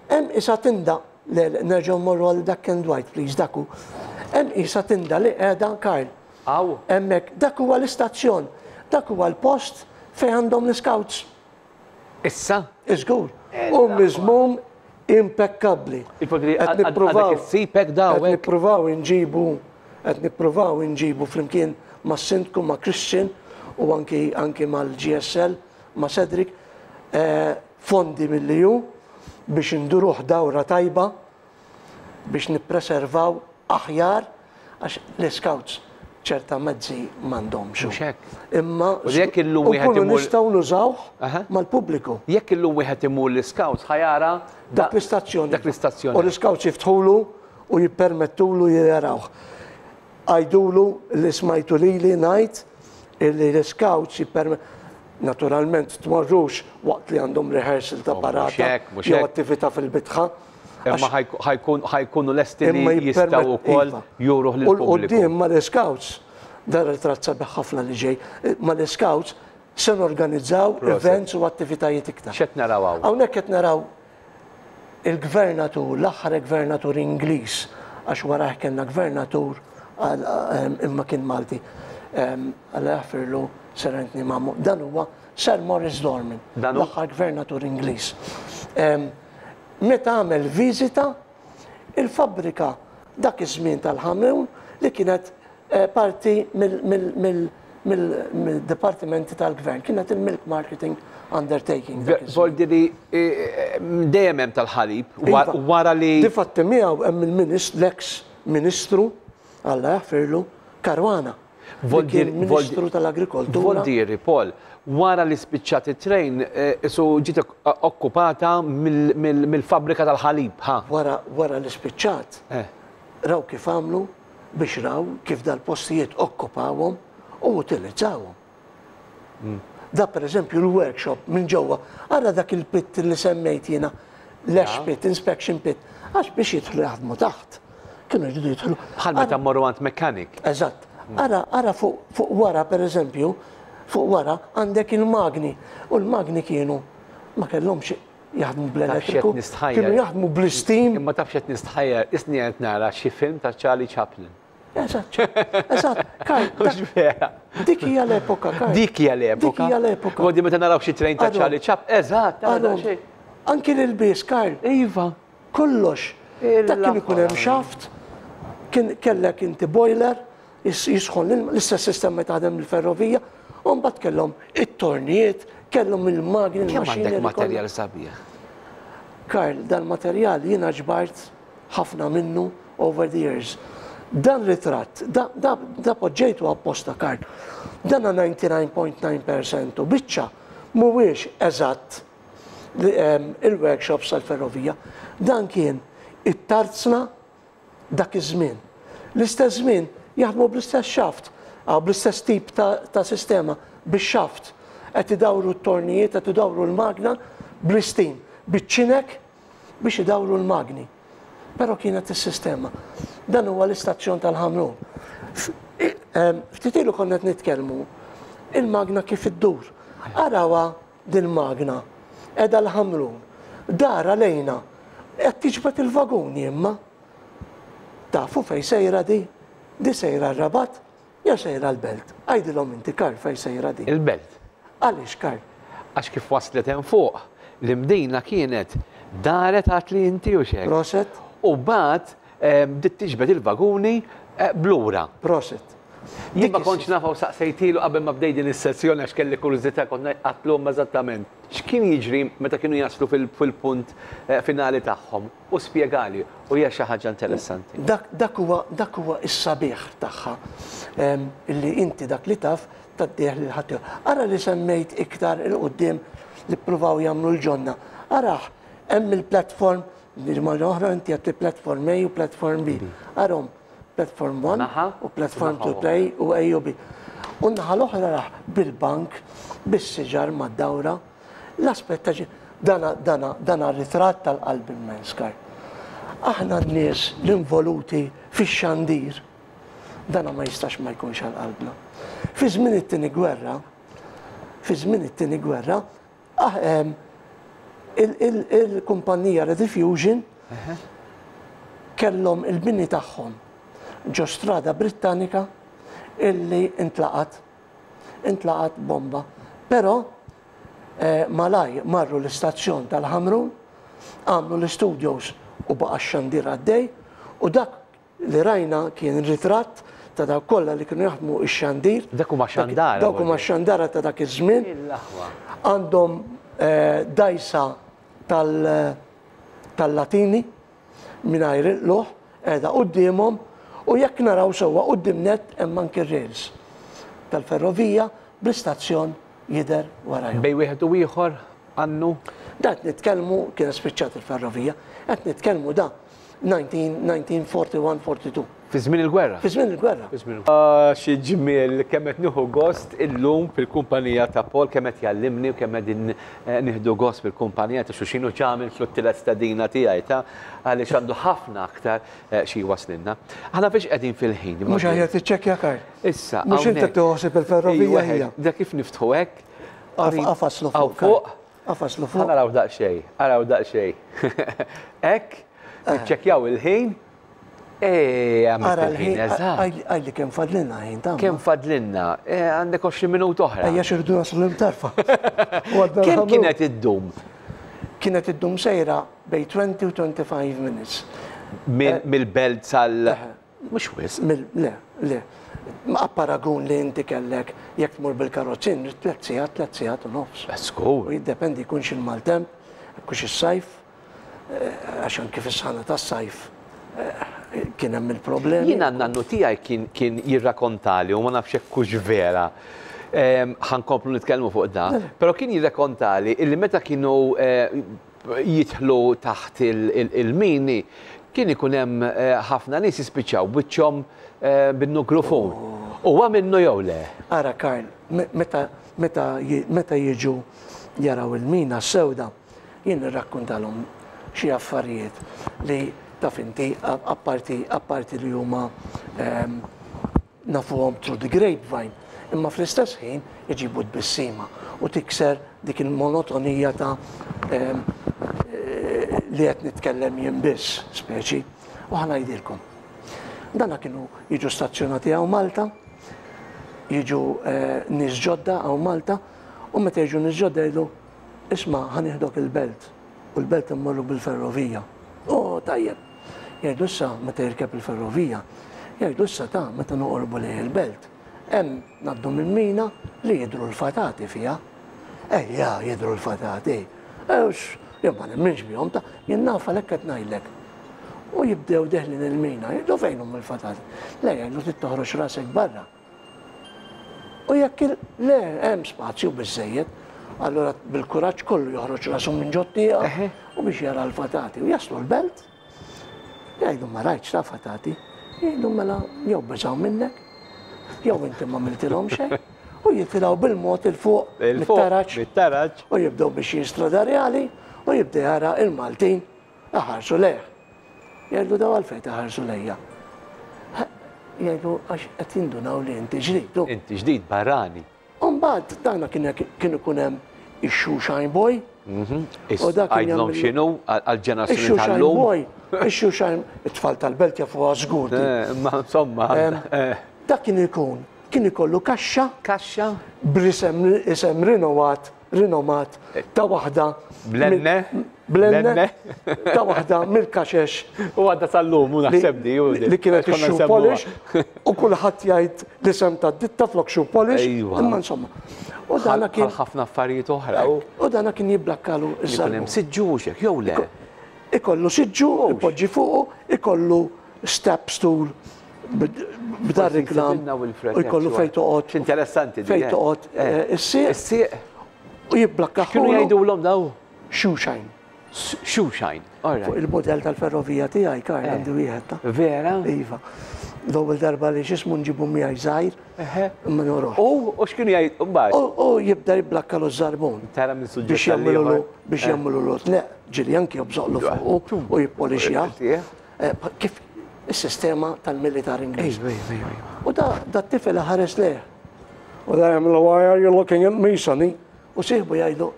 hemm isa tinda, le nerġgħu mmorru għal dak and white please, dak hu. Hemm isa tinda li qiegħda Karl. Hawn? Hemmhekk, dak huwa l-istazzjon, dak huwa l-post fejn għandhom l-iscouts. Issa? Żgur. U miżmum impekkabbli. Qed nippruvaw. Issib daw. Qed nippruvaw inġibu qed nippruvaw inġibu flimkien mas-Sindku, ma' Christian u anki anki mal-GSL, ma' Cedric, eh, fondi mill-EU biex induruh dawra tajba biex nippreservaw aħjar għax l-iscouts ċerta mezzi m'għandhomx. Mhux hekk. Imma U jekk illum wieħed nkunu imur nistgħu nużawh mal-pubbliku. Jekk illum wieħed imur l-iscouts ħa jara dak l-istazzjon. Dak l-istazzjon. U l-iscouts jiftħulu u jippermettulu jarawh. Għidulu li smajtu lili ngħid illi l-iscouts jipperme Naturalment tmorrux waqt li għandhom rehearsal ta' Oh, mhux parata hekk, mhux jew hekk. attività fil-bitħa. Imma Għax ħajkunu lesti li imma jistgħu jippermet wkoll iva. juruh U lill-pubbliku. l-quddiem mal-iscouts, dan ritratt sabiħ ħafna li ġej, mal-iscouts se norganizzaw Proset. events u attivitajiet iktar. X'qed naraw hawn? Hawnhekk qed naraw Il-gvernatur, l-aħħar gvernatur Ingliż, għax warajh kellna gvernatur imma kien Malti, Alla jaħfirlu Sir Anthony Mamo, dan huwa Sir Maurice Dorman, l-aħħar gvernatur Ingliż. Meta għamel viżita, il-fabbrika dak iż-żmien tal-Ħamrun li kienet parti mill-dipartimenti tal-gvern, kienet il-Milk Marketing Undertaking. Voldi li dejjem hemm tal-ħalib, iva. wara li. Difatti miegħu hemm il-ministru, l-eks ministru, Alla jaħfirlu, Caruana. Ministru tal-Agrikoltura. Voldieri, Paul, wara li spiċċat it-train, isu ġiet okkupata mill-fabbrika tal-ħalib, ha? Wara li spiċċat, raw kif għamlu, biex raw kif dal-postijiet okkupawhom u utilizzawhom. Da pereżempju l-workshop minn ġewwa, ara dak il-pit li semmejt jiena, l-ash pit, inspection pit, għax biex jidħlu jaħdmu taħt. Kienu jridu jidħlu. Bħal meta mmorru għand mechanic. Eżatt. Ara, ara fuq fuq wara pereżempju, fuq wara għandek il-magni u l-magni kienu ma kellhomx jaħdmu bl-elettriku, kienu jaħdmu bl-istim. Imma taf x'qed nistħajjar, isni qed nara xi film ta' Charlie Chaplin. Eżatt, eżatt, Karl. Mhux vera. Dik hija l-epoka, Karl. Dik hija l-epoka. Dik hija l-epoka. Għodi meta naraw xi train ta' Charlie Chaplin, eżatt, tara xejn. Anki l-ilbies, Karl. Iva. Kollox. Dak kien ikun hemm xaft, kien kellek inti boiler, jisħon l-ilma, l-istess sistema taħdem il-ferrovija, u mbagħad kellhom it-tornijiet, kellhom il-magni, Kemm għandek materjal sabiħ? Karl, dal-materjal jiena ġbart ħafna minnu over the years. Dan ritratt, da, da, da poġġejtu apposta, Karl. Dan 99.9% u biċċa mhuwiex eżatt il-workshops tal-ferrovija. Dan kien it-tarzna. Dak iż-żmien. L-istess żmien jaħdmu bl-istess xaft, bl-istess tip ta' sistema, bix-xaft. Qed idawru t-tornijiet, qed idawru l-magna bl-istim, biċ-ċinek biex idawru l-magni. Però kienet is-sistema. Dan huwa l-istazzjon tal-Ħamrun. Ftit ilu konna qed nitkellmu il-magna kif iddur. Arawha dil-magna qiegħda l-Ħamrun. Dara lejna qed tiġbed il-vaguni imma. Tafu fejn sejra di? Di sejra r-Rabat jew sejra l-Belt? Għidilhom inti Karl fejn sejra di. Il-Belt. Għaliex Karl? Għax kif waslet hemm fuq, l-Imdina kienet daret għad li inti hux hekk? Proset. U mbagħad bdiet tiġbed il-vaguni b'lura. Proset. Jien ma kontx nafha u saqsejtilu qabel ma bdejt din is-sessjoni għax kelli kurżità kont għedtlu eżattament x'kien jiġri meta kienu jaslu fil-punt finali tagħhom u spjegali u hija xi ħaġa interessanti. Dak dak huwa dak huwa s-sabiħ tagħha illi inti dak li taf tgħaddih lil ħaddieħor. Ara li semmejt iktar 'il quddiem li ppruvaw jagħmlu l-ġonna. Arah hemm il-platform bil-ġimgħa oħra inti għedt li platform A u platform B. Arahom platform 1 u platform 2 play u A u B. U n-naħa l-oħra raħ bil-bank, bis-siġar mad-dawra. L-aspett ta' dana dana dana ritratt tal-qalb immens, Karl. Aħna n-nies l-involuti fix-xandir, dana ma jistax ma jkunx għal qalbna. Fi żmien it-tieni gwerra, fi żmien it-tieni gwerra, ah, il-kumpanija Rediffusion kellhom il-bini tagħhom ġo strada Brittanika illi intlaqat intlaqat bomba. Però eh, malaj marru l-istazzjon tal-Ħamrun, għamlu l-studios u baqa' x-xandir għaddej u dak li rajna kien ritratt ta' dawk kollha li kienu jaħdmu x-xandir. Dak huma xandara. Dawk huma xandara ta' dak iż-żmien. Għandhom eh, dajsa tal-Latini mingħajr il-qlugħ qiegħda quddiemhom u jekk naraw sewwa quddiem nett hemm anki r-rails tal-ferrovija bl-istazzjon jidher warajhom. Bejn wieħed u ieħor annu? Da qed nitkellmu kienet spiċċat il-ferrovija, qed nitkellmu da 1941, 42. Fi żmien il-gwerra? Fi żmien il-gwerra. Ah, xi ġmiel, kemm qed nieħu gost illum fil-kumpanija ta' Paul, kemm qed jgħallimni u kemm qegħdin eh, nieħdu gost fil-kumpanija ta' xulxin u ġamil fl-tielet stedina tiegħi ta' għaliex għandu ħafna aktar eh, xi jwaslilna. Aħna fiex qegħdin fil-ħin. Mhux aħjar tiċċekkja Karl. Issa. Mhux inti toħsib il-ferrovija hija. Da kif niftħu hekk? Qafaslu fuq. Fuq. Qafaslu fuq. Araw daqsxejn, araw daqsxejn. Hekk, niċċekkjaw il-ħin. Eh, Ara l-ħin, eżatt. Għalli kemm fadlinna ħin ta' Kemm fadlinna? Eh, għandek 20 minut oħra. Ejja xirdu naslu l-imtarfa. Kemm kienet iddum? Kienet iddum sejra bej 20 u 25 minutes. Mill-belt sal. Mhux wisq. Le, le. Ma paragun li inti kellek jekk tmur bil-karozzin, tlet sigħat, tlet sigħat u nofs. Skur. U jiddependi jkunx il-maltemp, jkunx is-sajf, eh, għax anki fis-sħana tas-sajf eh, kien hemm il-problemi. Jiena n-nannu tiegħi kien kien jirrakontali u ma nafx hekk hux vera. Ħa nkomplu nitkellmu fuq da, però kien jirrakontali illi meta kienu eh, jidħlu taħt il-mini kien ikun hemm ħafna nies jispiċċaw biċċhom bin-nuklufun. Huwa minnu jew le? Ara Karl, meta meta meta jiġu jaraw il-mina s-sewda, jien nirrakkuntalhom xi affarijiet li taf inti apparti apparti li huma nafuhom through the grapevine, imma fl-istess ħin iġibu tbissima u tikser dik il-monotonija ta' li qed nitkellem jien biss, speċi. U ħa ngħidilkom. Dana kienu jiġu stazzjonati hawn Malta, jiġu nies ġodda hawn Malta, u meta jiġu nies ġodda jgħidu, isma' ħa nieħdok il-belt, u l-belt immorru bil-ferrovija. Oh, tajjeb. Jgħidu issa meta jirkeb il-ferrovija, jgħidu issa ta' meta noqorbu lejn il-belt, hemm ngħaddu minn mina li jidhru l-fatati fiha. Ejja, jidhru l-fatati. Ewx, jien ma nemminx bihom ta' jien naf għalhekk qed ngħidlek. U jibdew deħlin il-mina, jgħidu fejn huma l-fatati. Le jgħidu trid toħroġ rasek barra. U jekk le hemm spazju biżejjed, allura bil-kuraġġ kollu joħroġ rasu minn ġot-tieqa u biex jara l-fatati u jaslu l-belt. Jgħidlu ma rajtx ta' fatati. Jgħidlu mela jew beżgħu minnek, jew inti ma għamiltilhom xejn. U jitilgħu bil-mod 'il fuq mit-taraġ. Mit-taraġ. U jibdew biex Strada Rjali u jibda jara il-Maltin iħarsu lejh. Jgħidlu daw għalfejn taħarsu lejja. Jgħidlu għax qed jindunaw li inti ġdid. Inti ġdid barrani. U mbagħad dana kien kien ikun hemm ix-shoeshine boy. Mhm. U dak kien jagħmel x'inhu għall-ġenerazzjoni tal-lum. Boy, ix-shoeshine, it-tfal tal-belt jafuha żgur. Eh, ma insomma. Eh. Dak kien ikun kien ikollu kaxxa. Kaxxa. B'isem isem rinovat rinomat ta' waħda. Blenne? Blenne? Ta' waħda mill-kaxex. U għadda sal-lum, u naħseb di. Li kienet ix-shoe polish, u kulħadd jgħid l-isem ta' ditta flok shoe polish. Imma insomma. U dana kien. ħafna affarijiet oħra. U dana kien jibblakkalu iż-żar. Hemm siġġu u xek, jew le? Ikollu siġġu, ipoġġi fuqu, ikollu step stool b'dar reklam u jkollu fejn toqgħod. Interessanti. Fejn toqgħod eh, eh, is-sieq. Is-sieq. U jibblakka. Kienu jgħidulhom daw? Shoeshine. Shoeshine. Fuq il-modell tal-ferrovija tiegħi kar eh. għandi wieħed ta' Vera? Iva. L-ewwel darba li x'ismu nġibu miegħi żgħir. Imma noruħ. U u x'kienu jgħid mbagħad? U jibda jibblakka l żarbun. Tara minn suġġett. Biex jagħmlu biex jagħmlu l Le, ġieli anki jobżoqlu fuq u jippolixja. Kif is-sistema tal-militar Ingliż. U da da t-tifel ħares lejh. U da jagħmlu why are you looking at me, sonny? U sieħbu jgħidu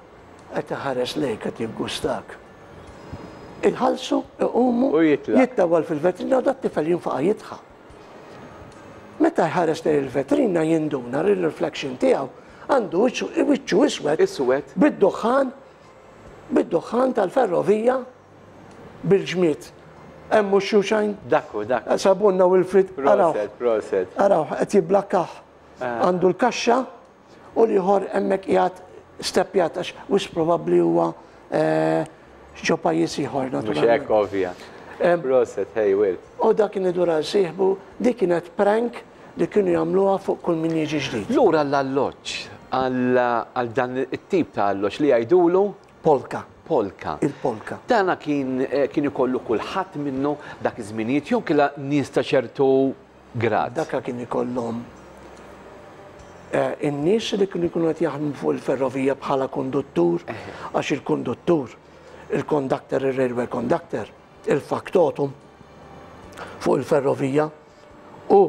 qed iħares lejk qed jiggustak. Iħallsu, iqumu, jittawal fil-vetrina u da t-tifel jinfaqa' jidħaq. Meta jħares lejn il-vetrina jinduna li l-reflection tiegħu għandu wiċċu iswed. Iswed. Bid-duħħan, bid-duħħan tal-ferrovija bil-ġmied. Hemm mhux shoeshine? Dak hu, dak. Sabunna Wilfrid. Proset, proset. Araw, qed jibblakkaħ. Ah. Għandu l-kaxxa u l-ieħor hemmhekk qiegħed steppjat għax wis probabbli huwa eh, ġo pajjiż ieħor naturalment. Mhux hekk ovvja. Proset, hey Will. U dak kien idur għal sieħbu, dik kienet prank li kienu jagħmluha fuq kull min jiġi ġdid. Lura l-alloġġ għal dan it-tip ta' alloġġ li jgħidulu Polka. Polka. Il-polka. Dana kien kien ikollu kulħadd minnu dak iż-żminijiet jew killa nies ta' ċertu grad? Daka kien ikollhom in-nies li kienu jkunu qed jaħdmu fuq il-ferrovija bħala konduttur, għax il-konduttur, il-conductor, il-railway conductor, il-factotum fuq il-ferrovija u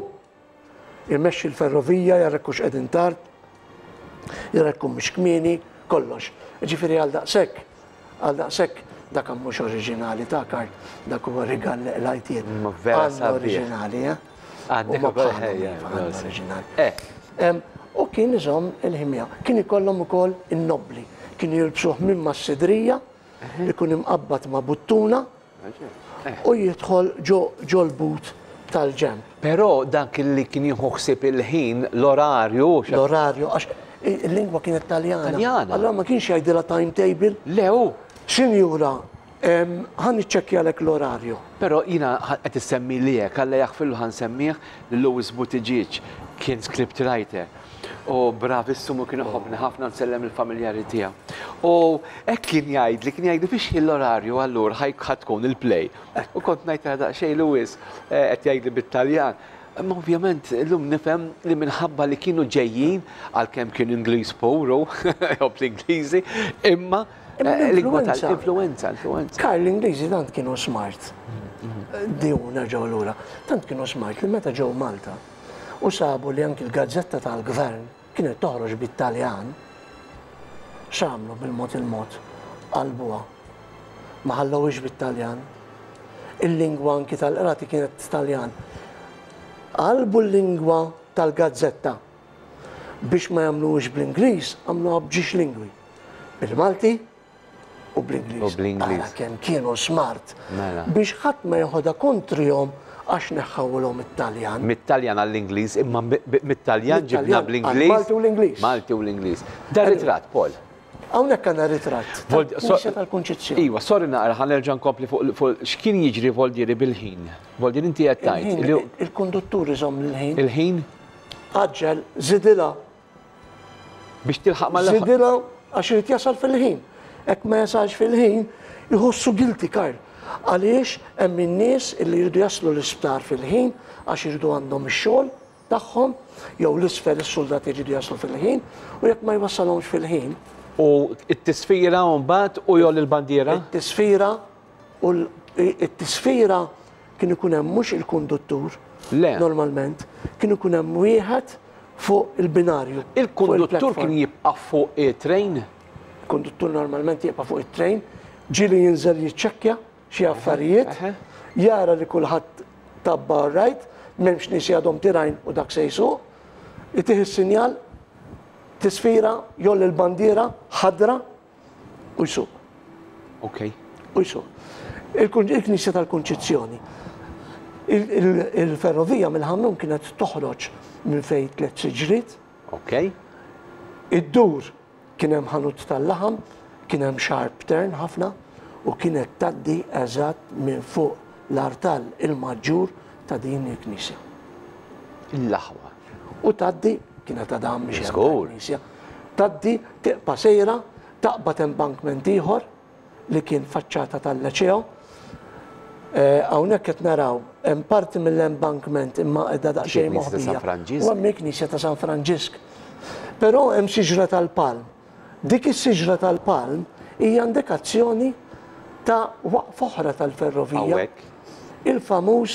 Imexxi l-ferrovija, jara jekk hux qegħdin tard, jara jekk mhux kmieni, kollox. Ġifieri għal daqshekk, għal daqshekk dak mhux oriġinali ta' Karl, dak huwa rigal li qlajt jien. Ma vera sabiħ. Oriġinali, eh? Għandek oriġinali. Eh. U kien iżomm il-ħimja. Kien ikollhom ukoll in-nobbli. Kienu jilbsuh minn mas-sidrija, ikun imqabbad ma' buttuna, u jidħol ġol-but tal-ġenb. Però dak li kien jieħu ħsieb il-ħin, l-orarju. L-orarju, għax il-lingwa kienet Taljana. Taljana. Allora ma kienx jgħidilha timetable. Le hu. Sinjura, ħa niċċekkjalek l-orarju. Però jiena qed issemmi li hekk, Alla jaħfirlu ħa nsemmih, lil Louis Buttigieg, kien script writer. U bravissimu kien iħobbni ħafna nsellem il-familjari tiegħu. U hekk kien jgħidli, kien jgħidli fiex ħin l-orarju allura ħa tkun il-play. U kont ngħid daqsxejn Louis eh, qed jgħidli bit-Taljan. Imma ovvjament illum nifhem li minħabba li kienu ġejjin għalkemm kien Ingliż puru, jew l-Ingliżi, imma eh, lingwa tal-influenza, influenza. Karl, l-Ingliżi tant kienu smart. Diju nerġgħu lura. Tant kienu smart li meta ġew Malta u sabu li anki l-gazzetta tal-gvern kienet toħroġ bit-Taljan, x'għamlu bil-mod il-mod? Qalbuha. Ma ħallewhiex bit-Taljan. Il-lingwa anki tal-qrati kienet Taljan. Qalbu l-lingwa tal-gazzetta biex ma jagħmluhiex bl-Ingliż, għamluha b'ġiex lingwi. Bil-Malti, u bl-Ingliż. U bl-Ingliż. Ara kemm kienu smart. Mela. Biex ħadd ma jeħodha kontrihom għax neħħawlhom it-Taljan. Mit-Taljan għall-Ingliż, imma mit-Taljan ġibna bl-Ingliż. Malti u l-Ingliż. Malti u l-Ingliż. Da ritratt, Paul. Hawnhekk għandna ritratt. Tal-Knisja tal-Kunċizzjoni. Iva, sorry naqra ħa nerġa' nkompli fuq x'kien jiġri Voldieri bil-ħin. Voldieri inti qed tgħid. Il-konduttur iżomm l-ħin. Il-ħin? Għaġġel, żidilha. Biex tilħaq mal Żidilha għax irid jasal fil-ħin. Hekk ma jasalx fil-ħin, iħossu guilty Karl. Għaliex hemm in-nies li jridu jaslu l-isptar fil-ħin għax iridu għandhom ix-xogħol tagħhom, jew l-isfel is-suldati jridu jaslu fil-ħin, u jekk ma jwassalhomx fil-ħin. U t-tisfira mbagħad u jgħolli l-bandiera? It-tisfira u t-tisfira kien ikun hemm mhux il-konduttur. Le. Normalment, kien ikun hemm wieħed fuq il-binarju. Il-konduttur kien jibqa' fuq it-train? Il-konduttur normalment jibqa' fuq it-train, ġieli jinżel jiċċekkja xi affarijiet, jara li kulħadd tabba all right, m'hemmx nies għadhom tirajn u dak se jsuq, itih is-sinjal, tisfira, jgħolli l-bandiera ħadra u jsuq. Ok. U jsuq. Il-Knisja tal-Kunċizzjoni. Il-ferrovija mill-Ħamrun kienet toħroġ minn fejn tlet siġriet. Ok. Iddur kien hemm ħanut tal-laħam, kien hemm sharp turn ħafna u kienet tgħaddi eżatt minn fuq l-artal il-maġġur ta' din il-knisja. Il-laħwa. U tgħaddi, kienet għadha mhix knisja, tgħaddi tiqpa' sejra, taqbad embankment ieħor li kien faċċata tal-Leċeo. Hawnhekk qed naraw hemm parti mill-embankment imma qiegħda daqsxejn moħbija. U hemm il-Knisja ta' San Franġisk. Però hemm siġra tal-palm. Dik is-siġra tal-palm hija indikazzjoni ta' waqfa oħra tal-ferrovija. Il-famuż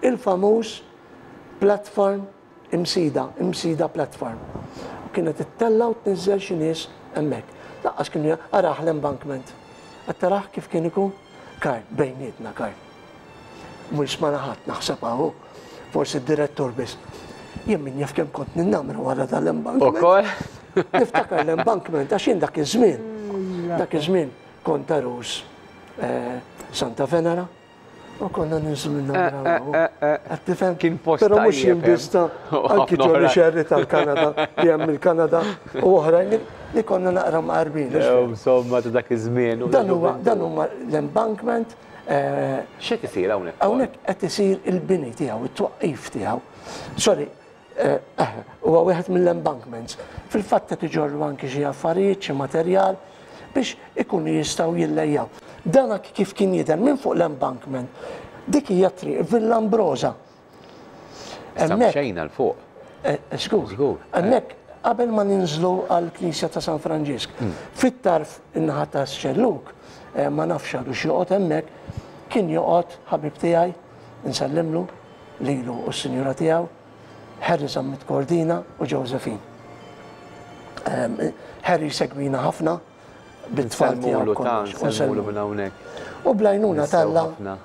il-famuż platform Imsida, Imsida platform. U kienet ittella' u tniżżel xi nies hemmhekk. Lanqas kienu arah l-embankment. Qed tarah kif kien ikun? Karl, bejnietna Karl. Mhu jismagħna ħadd naħseb hawn hu. Forsi d-direttur biss. Jien min jaf kemm kont ninnamra wara dal-embankment. Ukoll? Niftakar l-embankment għax jien dak iż-żmien, dak iż-żmien kont għarus Santa Venera. U konna ninżlu minna naraw. Qed tifhem? Kien post Però mhux jien biss ta' anki Johnny Sherry tal-Kanada li hemm il-Kanada u oħrajn li konna naqra mqarbin. Insomma ta' dak iż-żmien. Dan huwa dan huma l-embankment. X'qed isir hawnhekk? Hawnhekk qed isir il-bini tiegħu, it-twaqqif tiegħu. Sorry, Huwa wieħed mill-embankments. Fil-fatt qed iġorru anki xi affarijiet, xi materjal biex ikunu jistgħu jillejjaw. Dan kif kien jidher minn fuq l-embankment. Dik hija triq Villa Ambrosa. Hemmhekk. Xejna 'l fuq. Żgur. Hemmhekk qabel ma ninżlu għall-Knisja ta' San Franġisk. Fit-tarf in-naħa tax-xellug, ma nafx għadux joqgħod hemmhekk, kien joqgħod ħabib tiegħi, insellimlu, lilu u s-sinjura tiegħu, Harry Zammit Cordina u Josephine. Harry segwina ħafna bit-tfal tiegħu. Nsellmulu minn hawnhekk. U bl-għajnuna t'Alla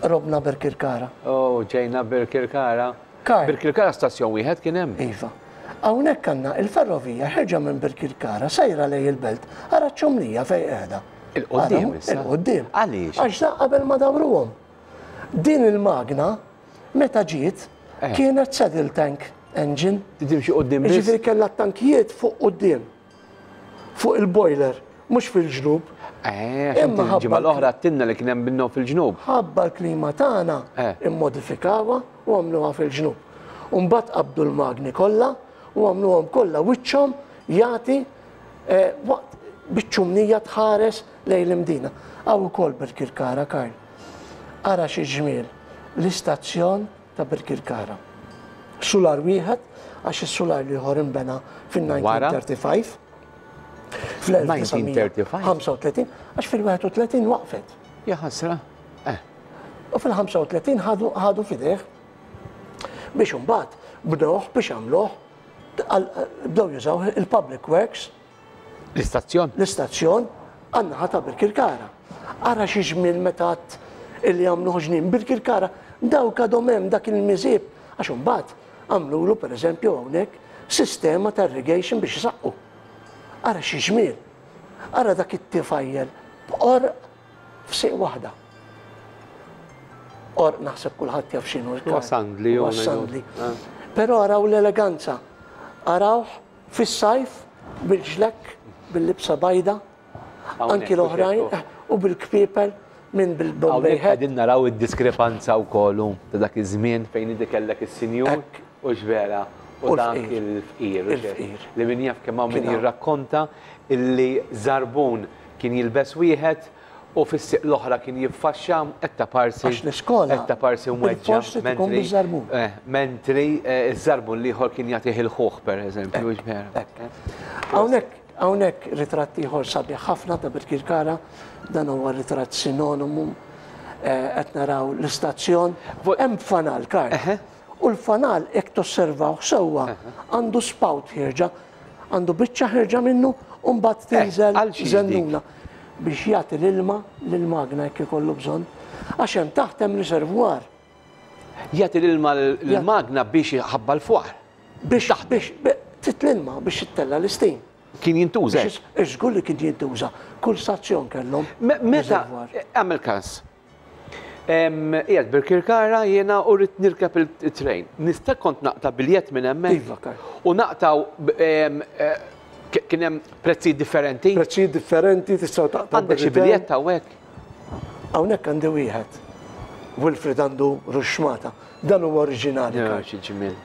robna Birkirkara. Oh, ġejna Birkirkara. Birkirkara stazzjon wieħed kien hemm? Iva. Hawnhekk għandna il-ferrovija ħerġa minn Birkirkara sejra lejn il-belt, ara ċ-ċumnija fejn qiegħda. Il-quddiem issa. Il-quddiem. Għaliex? Għax da qabel ma dawruhom. Din il-magna meta ġiet kienet saddle tank engine. Timxi quddiem biss. Jiġifieri kellha t-tankijiet fuq quddiem. Fuq il-boiler, mhux fil-ġnub. Eh, imma ġimgħa l-oħra għedtilna li kien hemm minnhom fil-ġnub. Ħabba l-klima tagħna immodifikawha u għamluha fil-ġnub. U mbagħad qabdu l-magni kollha u għamluhom kollha wiċċhom jagħti waqt biċ-ċumnija tħares lejn l-Imdina. Hawn ukoll Birkirkara, Karl. Ara xi ġmiel l-istazzjon ta' Birkirkara. Sular wieħed għax is-sular l-ieħor inbena fin-1935. Fl-1935 għax fil-31 waqfet. Ja ħasra. Eh. U fil-35 ħadu f'idejh biex imbagħad bnewh biex għamluh bdew jużaw il-Public Works L-istazzjon? L-istazzjon għan-naħa ta' Birkirkara. Ara xi ġmiel meta għadt illi għamluh ġnien Birkirkara, dawk għadhom hemm dak il-miżieb għax imbagħad għamlulu pereżempju hawnhekk sistema ta' irrigation biex isaqqu. Ara xi ġmiel. Ara dak it-tifajjel b'qorq f'sieq waħda. Qorq naħseb kulħadd jaf x'inhu l-kar. Huwa sandli. Huwa sandli. Però araw l-eleganza. Arawh Fis-sajf bil-ġlekk, bil-libsa bajda, anki l-oħrajn, u bil-kpiepel minn bil-Bombay hat. Hawnhekk qegħdin naraw id-diskrepanza wkoll hu ta' dak iż-żmien fejn inti kellek is-sinjur u x'vera u dak il-fqir. Il-fqir. Li min jaf kemm hawn min jirrakkonta illi żarbun kien jilbes wieħed U fis-sieq l-oħra kien jiffaxxa qed taparsi. Għax l-iskola qed taparsi mweġġa'. Bilfors trid ikun biż-żarbun. Mentri ż-żarbun l-ieħor kien jagħtih il-ħuħ pereżempju, hux vera? Hekk. Hawnhekk hawnhekk ritratt ieħor sabiħ ħafna ta' Birkirkara, dan huwa ritratt sinonimu qed naraw l-istazzjon. Hemm fanal, Karl. U l-fanal jekk tosservawh sewwa għandu spout ħierġa Għandu biċċa ħerġa minnu u mbagħad tinżel żennuna biex jagħti l-ilma lill-magna jekk ikollu bżonn. Għax hemm taħt hemm riservwar. Jagħti l-ilma lill-magna biex iħabba l-fwar. Biex biex trid l-ilma biex ittella' l-istim. Kien jintuża? Żgur li kien jintuża. Kull stazzjon kellhom. Meta għamel każ. Qiegħed Birkirkara jiena u rrid nirkeb it-train. Nista' kont naqta' biljett minn hemmhekk? Iva, Karl. U naqtgħu kien hemm prezzijiet differenti? Prezzijiet differenti tistgħu taqtgħu. Għandek xi biljett hawnhekk? Hawnhekk għandi wieħed. Wilfred għandu ruxxmata. Dan huwa oriġinali. Karl. Xi ġmiel.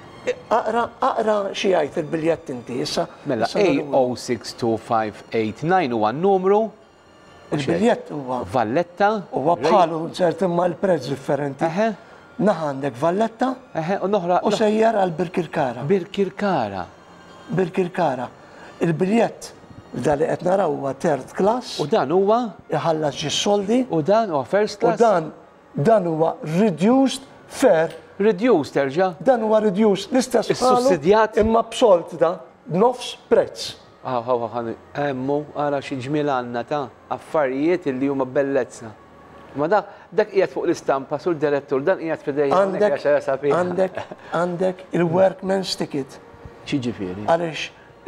Aqra, aqra xi jgħid il-biljett inti issa. Mela A062589 huwa n-numru. Il-biljett huwa. Valletta. Huwa bħalu ċert imma l-prezz differenti. Naħa għandek Valletta. U l-oħra. U sejjer għal Birkirkara. Birkirkara. Birkirkara. Il-biljett da li qed naraw huwa third class. U dan huwa? Iħallas ġie soldi. U dan huwa first class? U dan dan huwa reduced fare. Reduced terġa'? Dan huwa reduced l-istess bħalu. Issussidjat? Imma b'sold da, b'nofs prezz. Hawn, hawn, hawn, hemm hu, ara xi ġmiel għandna ta' affarijiet illi huma bellezza. Imma dak, dak qiegħed fuq l-istampa, Sur Direttur, dan qiegħed f'idejja hawnhekk għax ara sabiħa. Għandek, għandek il-workman's ticket. X'jiġifieri? Għaliex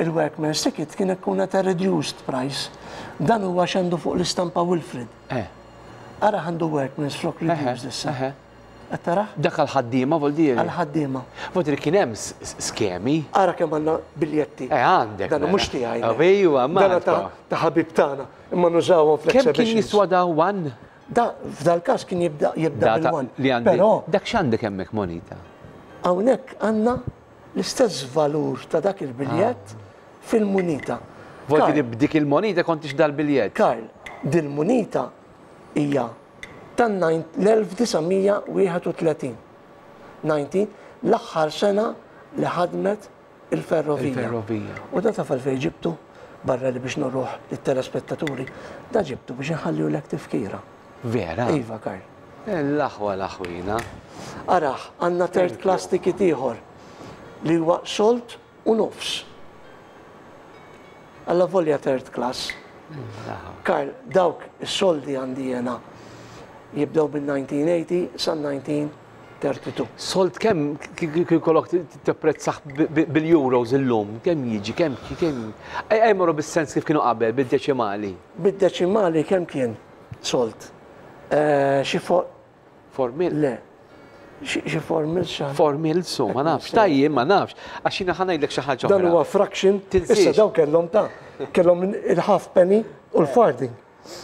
il-workman's ticket kien ikun at a reduced price. Dan huwa x'għandu fuq l-istampa Wilfred. Eh. Ara għandu workman's flok reduced issa. Qed tarah? Dak għall-ħaddiema vol dire. Għall-ħaddiema. Vol dire kien hemm skemi. Ara kemm għandna biljetti. Eh għandek. Dan mhux tiegħi. Ejwa, ma. Dan ta' ħabib tagħna, imma nużawhom fl-exhibitions. Kemm kien jiswa da one? Da f'dal-każ kien jibda jibda bil-one. Però. Dak x'għandek hemmhekk monita? Hawnhekk għandna l-istess valur ta' dak il-biljett fil-munita. Vol dire b'dik il-monita kont tixtri dal-biljett. Karl, dil-munita hija tan-1931, 19, l-aħħar sena li ħadmet il-ferrovija. Il-ferrovija. U da taf għalfejn ġibtu? Barra li biex nuruh lit-telespettaturi, da ġibtu biex inħallihulek tifkira. Vera? Iva, Karl. L-aħwa l-aħwina. Arah, għandna third class ticket ieħor li huwa sold u nofs. Allavolja third class. Karl, dawk is-soldi għandi jena jibdew minn 1980 sa 1932. Sold kemm kieku jkollok tipprezzah bil-euros illum, kemm jiġi, kemm kemm. Ejja jmorru bis-sens kif kienu qabel, bid-deċimali. Bid-deċimali kemm kien sold? Xi fuq Formil? Le. Xi formils xi Formils su, ma nafx. Tajjeb, ma nafx. Għax jiena ħa ngħidlek xi ħaġa Dan huwa fraction. Issa dawn kellhom ta' kellhom il-half penny u l-farthing.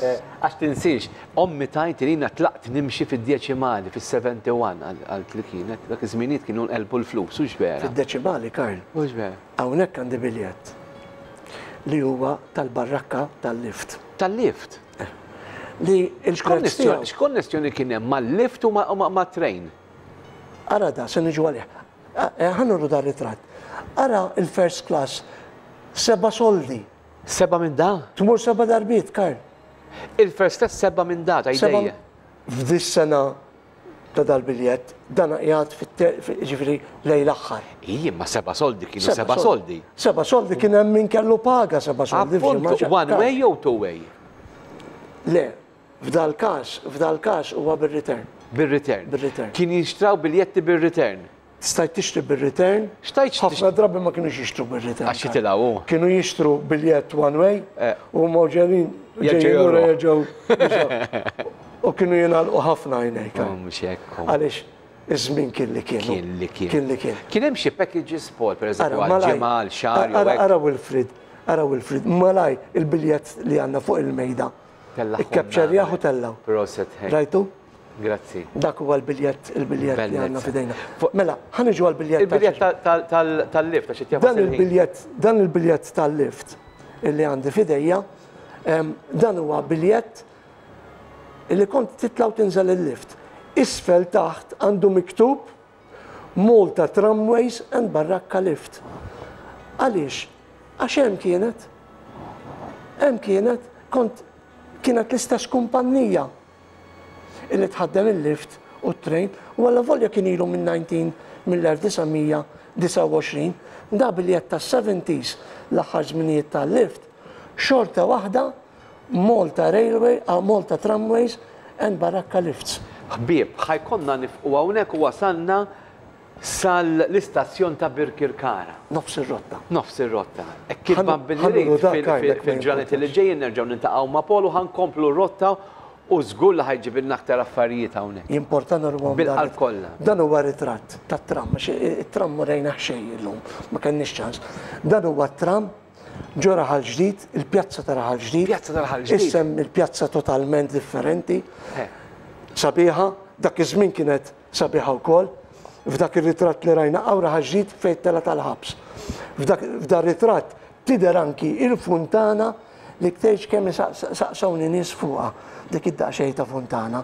Eh, għax tinsiex, ommi tajt li jiena tlaqt nimxi fid-deċimali fis-71 għalt li kienet, dak iż-żminijiet kienu nqelbu l-flus, hux vera? Fid-deċimali, Karl. Hux vera? Hawnhekk għandi biljett li huwa tal-barrakka tal-lift. Tal-lift? Li il-prezz tiegħu. X'konnessjoni kien hemm mal-lift u mat-train? Ara da, se niġu għalih. Eh, ħa nuru dar ritratt. Ara il-first class, seba' soldi. Seba' minn da? Tmur seba' darbiet, Karl. Il-first class seba' minn da, ta' idejja. F'dis sena ta' dal-biljett, dan qiegħed ġifieri lejn l-aħħar. Iji, ma seba' soldi kienu seba' soldi. Seba' soldi kien hemm min kellu paga seba' soldi. Appuntu, one way jew two way? Le, f'dal-każ, f'dal-każ huwa bir-return. Bir-return. Bir-return. Kien jinxtraw biljetti bir-return. Stajt tixtri bir-return. Xtajt Ħafna drabi ma kinux jixtru bir-return. Għax jitilgħu hu. Kienu jixtru biljett one way u huma ġejjin ġejjin lura jerġgħu. U kienu jingħalqu ħafna għajnejk. Oh, mhux hekk. Għaliex iż-żmien kien li kien. Kien li kien. Kien li kien. Kien hemm xi packages Paul, pereżempju għal ġimgħa, għal xahar jew hekk. Ara Wilfrid, ara Wilfrid, malaj il-biljett li għandna fuq il-mejda. Ikkapċerjah u tellgħu. Proset. Rajtu? Grazzi. Dak huwa l-biljett, il-biljett li għandna f'idejna. Mela, ħa niġu għall-biljett. Il-biljett tal-lift għax qed Dan il-biljett, dan il-biljett tal-lift illi għandi f'idejja, dan huwa biljett Illi kont titla' u tinżel il-lift. Isfel taħt għandu miktub Malta Tramways and Barrakka Lift. Għaliex? Għax hemm kienet. Hemm kienet, kont kienet l-istess kumpannija illi tħaddem il-lift u t-train u allavolja kien ilu minn 19 mill-1929, da biljett tas-70s l-aħħar żminijiet tal-lift, xorta waħda Malta Railway, Malta Tramways and Barrakka Lifts. Ħbieb, ħa jkollna nifqu hawnhekk u wasalna sal-istazzjon ta' Birkirkara. Nofs ir-rotta. Nofs ir-rotta. Hekk kif Bambin irid fil-ġranet li ġejjin nerġgħu niltaqgħu ma' Paul u ħa nkomplu r-rotta u żgur li ħa jġibilna aktar affarijiet hawnhekk. Jimporta nurhom Bil-qalb kollha. Dan huwa ritratt tat-tram, għax it-tram ma rejnah xejn illum, ma kenniex ċans. Dan huwa t-tram ġo Raħal Ġdid, il-pjazza ta' Raħal Ġdid. Pjazza ta' Raħal Ġdid. Issa hemm il-pjazza totalment differenti. Sabiħa, dak iż-żmien kienet sabiħa wkoll. F'dak ir-ritratt li rajna hawn Raħal Ġdid fejn tela' tal-ħabs. F'dan ritratt tidher anki il-funtana li ktejx kemm saqsawni nies fuqha dik id-daqsxejn ta' funtana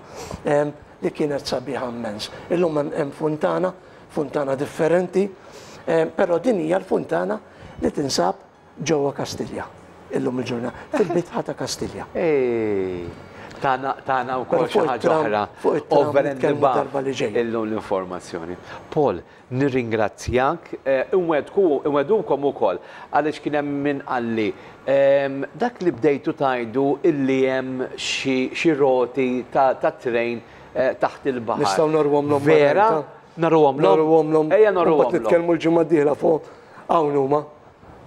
li kienet sabiħa immens. Illum hemm funtana, funtana differenti, però din hija l-funtana li tinsab ġewwa Kastilja illum il-ġurnata, fil-bitħa ta' Kastilja. Tana tana wkoll xi ħaġa oħra. Over and above illum l-informazzjoni. Paul, nirringrazzjak, inwegħdku inwegħdukom ukoll għaliex kien hemm min qalli dak li bdejtu tgħidu illi hemm xi roti ta' train taħt il-baħar. Nistgħu naruhomlhom Vera? Naruhomlhom? Naruhomlhom. Ejja naruhomlhom. Mbagħad nitkellmu l-ġimgħa d-dieħla fuq hawn huma.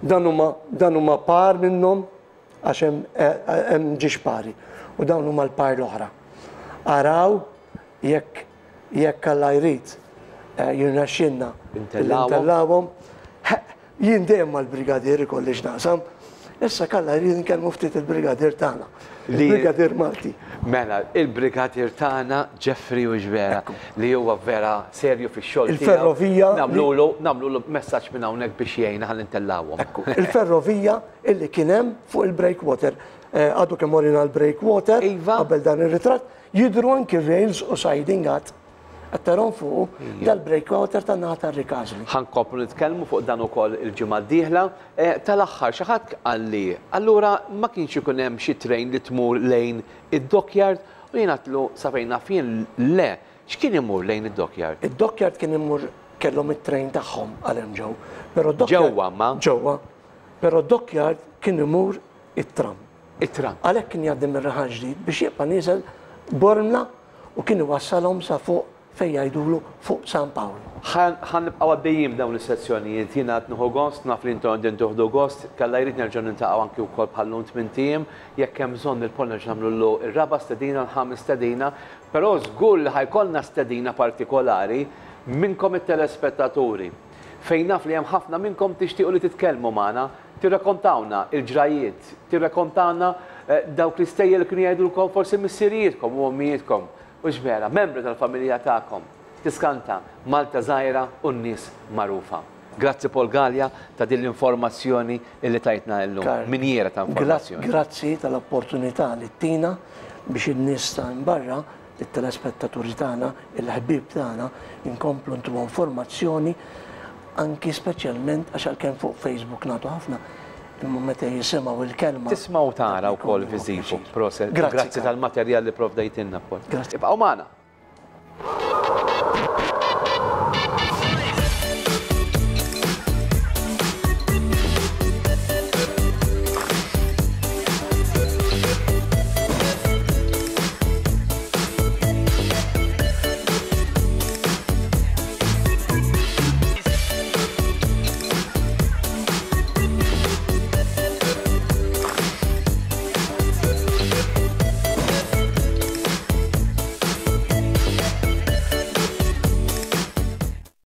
Dan huma dan huma par minnhom għax hemm hemm ġiex pari. U dawn huma l-par l-oħra. Araw jekk jekk Alla jrid jirnexxilna intellawhom. Jien dejjem mal-brigadier ikolli x'naqsam. Issa kalla jrid nkellmu ftit il-brigadier tagħna. Il-brigadier Malti. Mela, il-brigadier tagħna Jeffrey hux vera li huwa vera serju fix-xogħol tiegħu. Il-ferrovija. Nagħmlulu nagħmlulu messaġġ minn hawnhekk biex jgħinna ħalli ntellgħuhom. Ekku, il-ferrovija illi kien hemm fuq il-breakwater. Għadu kemm urina l-breakwater qabel dan ir-ritratt, jidhru anki r-rails u siding għad. Qed tarahom fuqu dal-breakwater tan-naħa tar-Rikażli. Ħa nkomplu nitkellmu fuq dan ukoll il-ġimgħa d-dieħla. Tal-aħħar xi ħadd qalli, allura ma kienx ikun hemm xi train li tmur lejn id-dockyard? U jien għedtlu sa fejn naf jien le. X'kien imur lejn id-dockyard? Id-dockyard kien imur kellhom it-train tagħhom għal hemm ġew. Però d-dockyard. Ġewwa ma? Ġewwa. Però d-dockyard kien imur it-tram. It-tram. Għalhekk kien jgħaddi mir-Raħal Ġdid biex jibqa' nieżel Bormla u kien iwassalhom sa fuq fejn jgħidulu fuq San Pawl. Ħa nibqgħu għaddejjin b'dawn is-sezzjonijiet. Jiena qed nieħu gost, naf li intom qegħdin tieħdu gost. Jekk Alla jrid nerġgħu niltaqgħu anki wkoll bħal-lum tmint ijiem. Jekk hemm bżonn il-Paul nerġgħu nagħmlulu r-raba' stedina, l-ħames stedina. Però żgur li ħa jkollna stedina partikolari minnkom it-telespettaturi. Fejn naf li hemm ħafna minnkom tixtiequ li titkellmu magħna, tirrakontawna l-ġrajjiet, tirrakontawna dawk l-istejjer li kienu jgħidulkom forsi missirijietkom u ommijietkom, hux vera, membri tal-familja tagħkom. Tiskanta, Malta żgħira u n-nies magħrufa. Grazzi Paul Galea ta' din l-informazzjoni li tajtna illum, minjiera ta' informazzjoni. Grazzi tal-opportunità li ttina biex in-nies ta' hemm barra, it-telespettaturi tagħna, il-ħbieb tagħna, inkomplu ntuhom formazzjoni anki speċjalment għax għalkemm fuq Facebook nagħtu ħafna, imma meta jisimgħu l-kelma. Tisma' u tara wkoll viżiv. Proset. Grazzi tal-materjal li pprovdejtilna Paul. Grazzi. Ibqgħu magħna.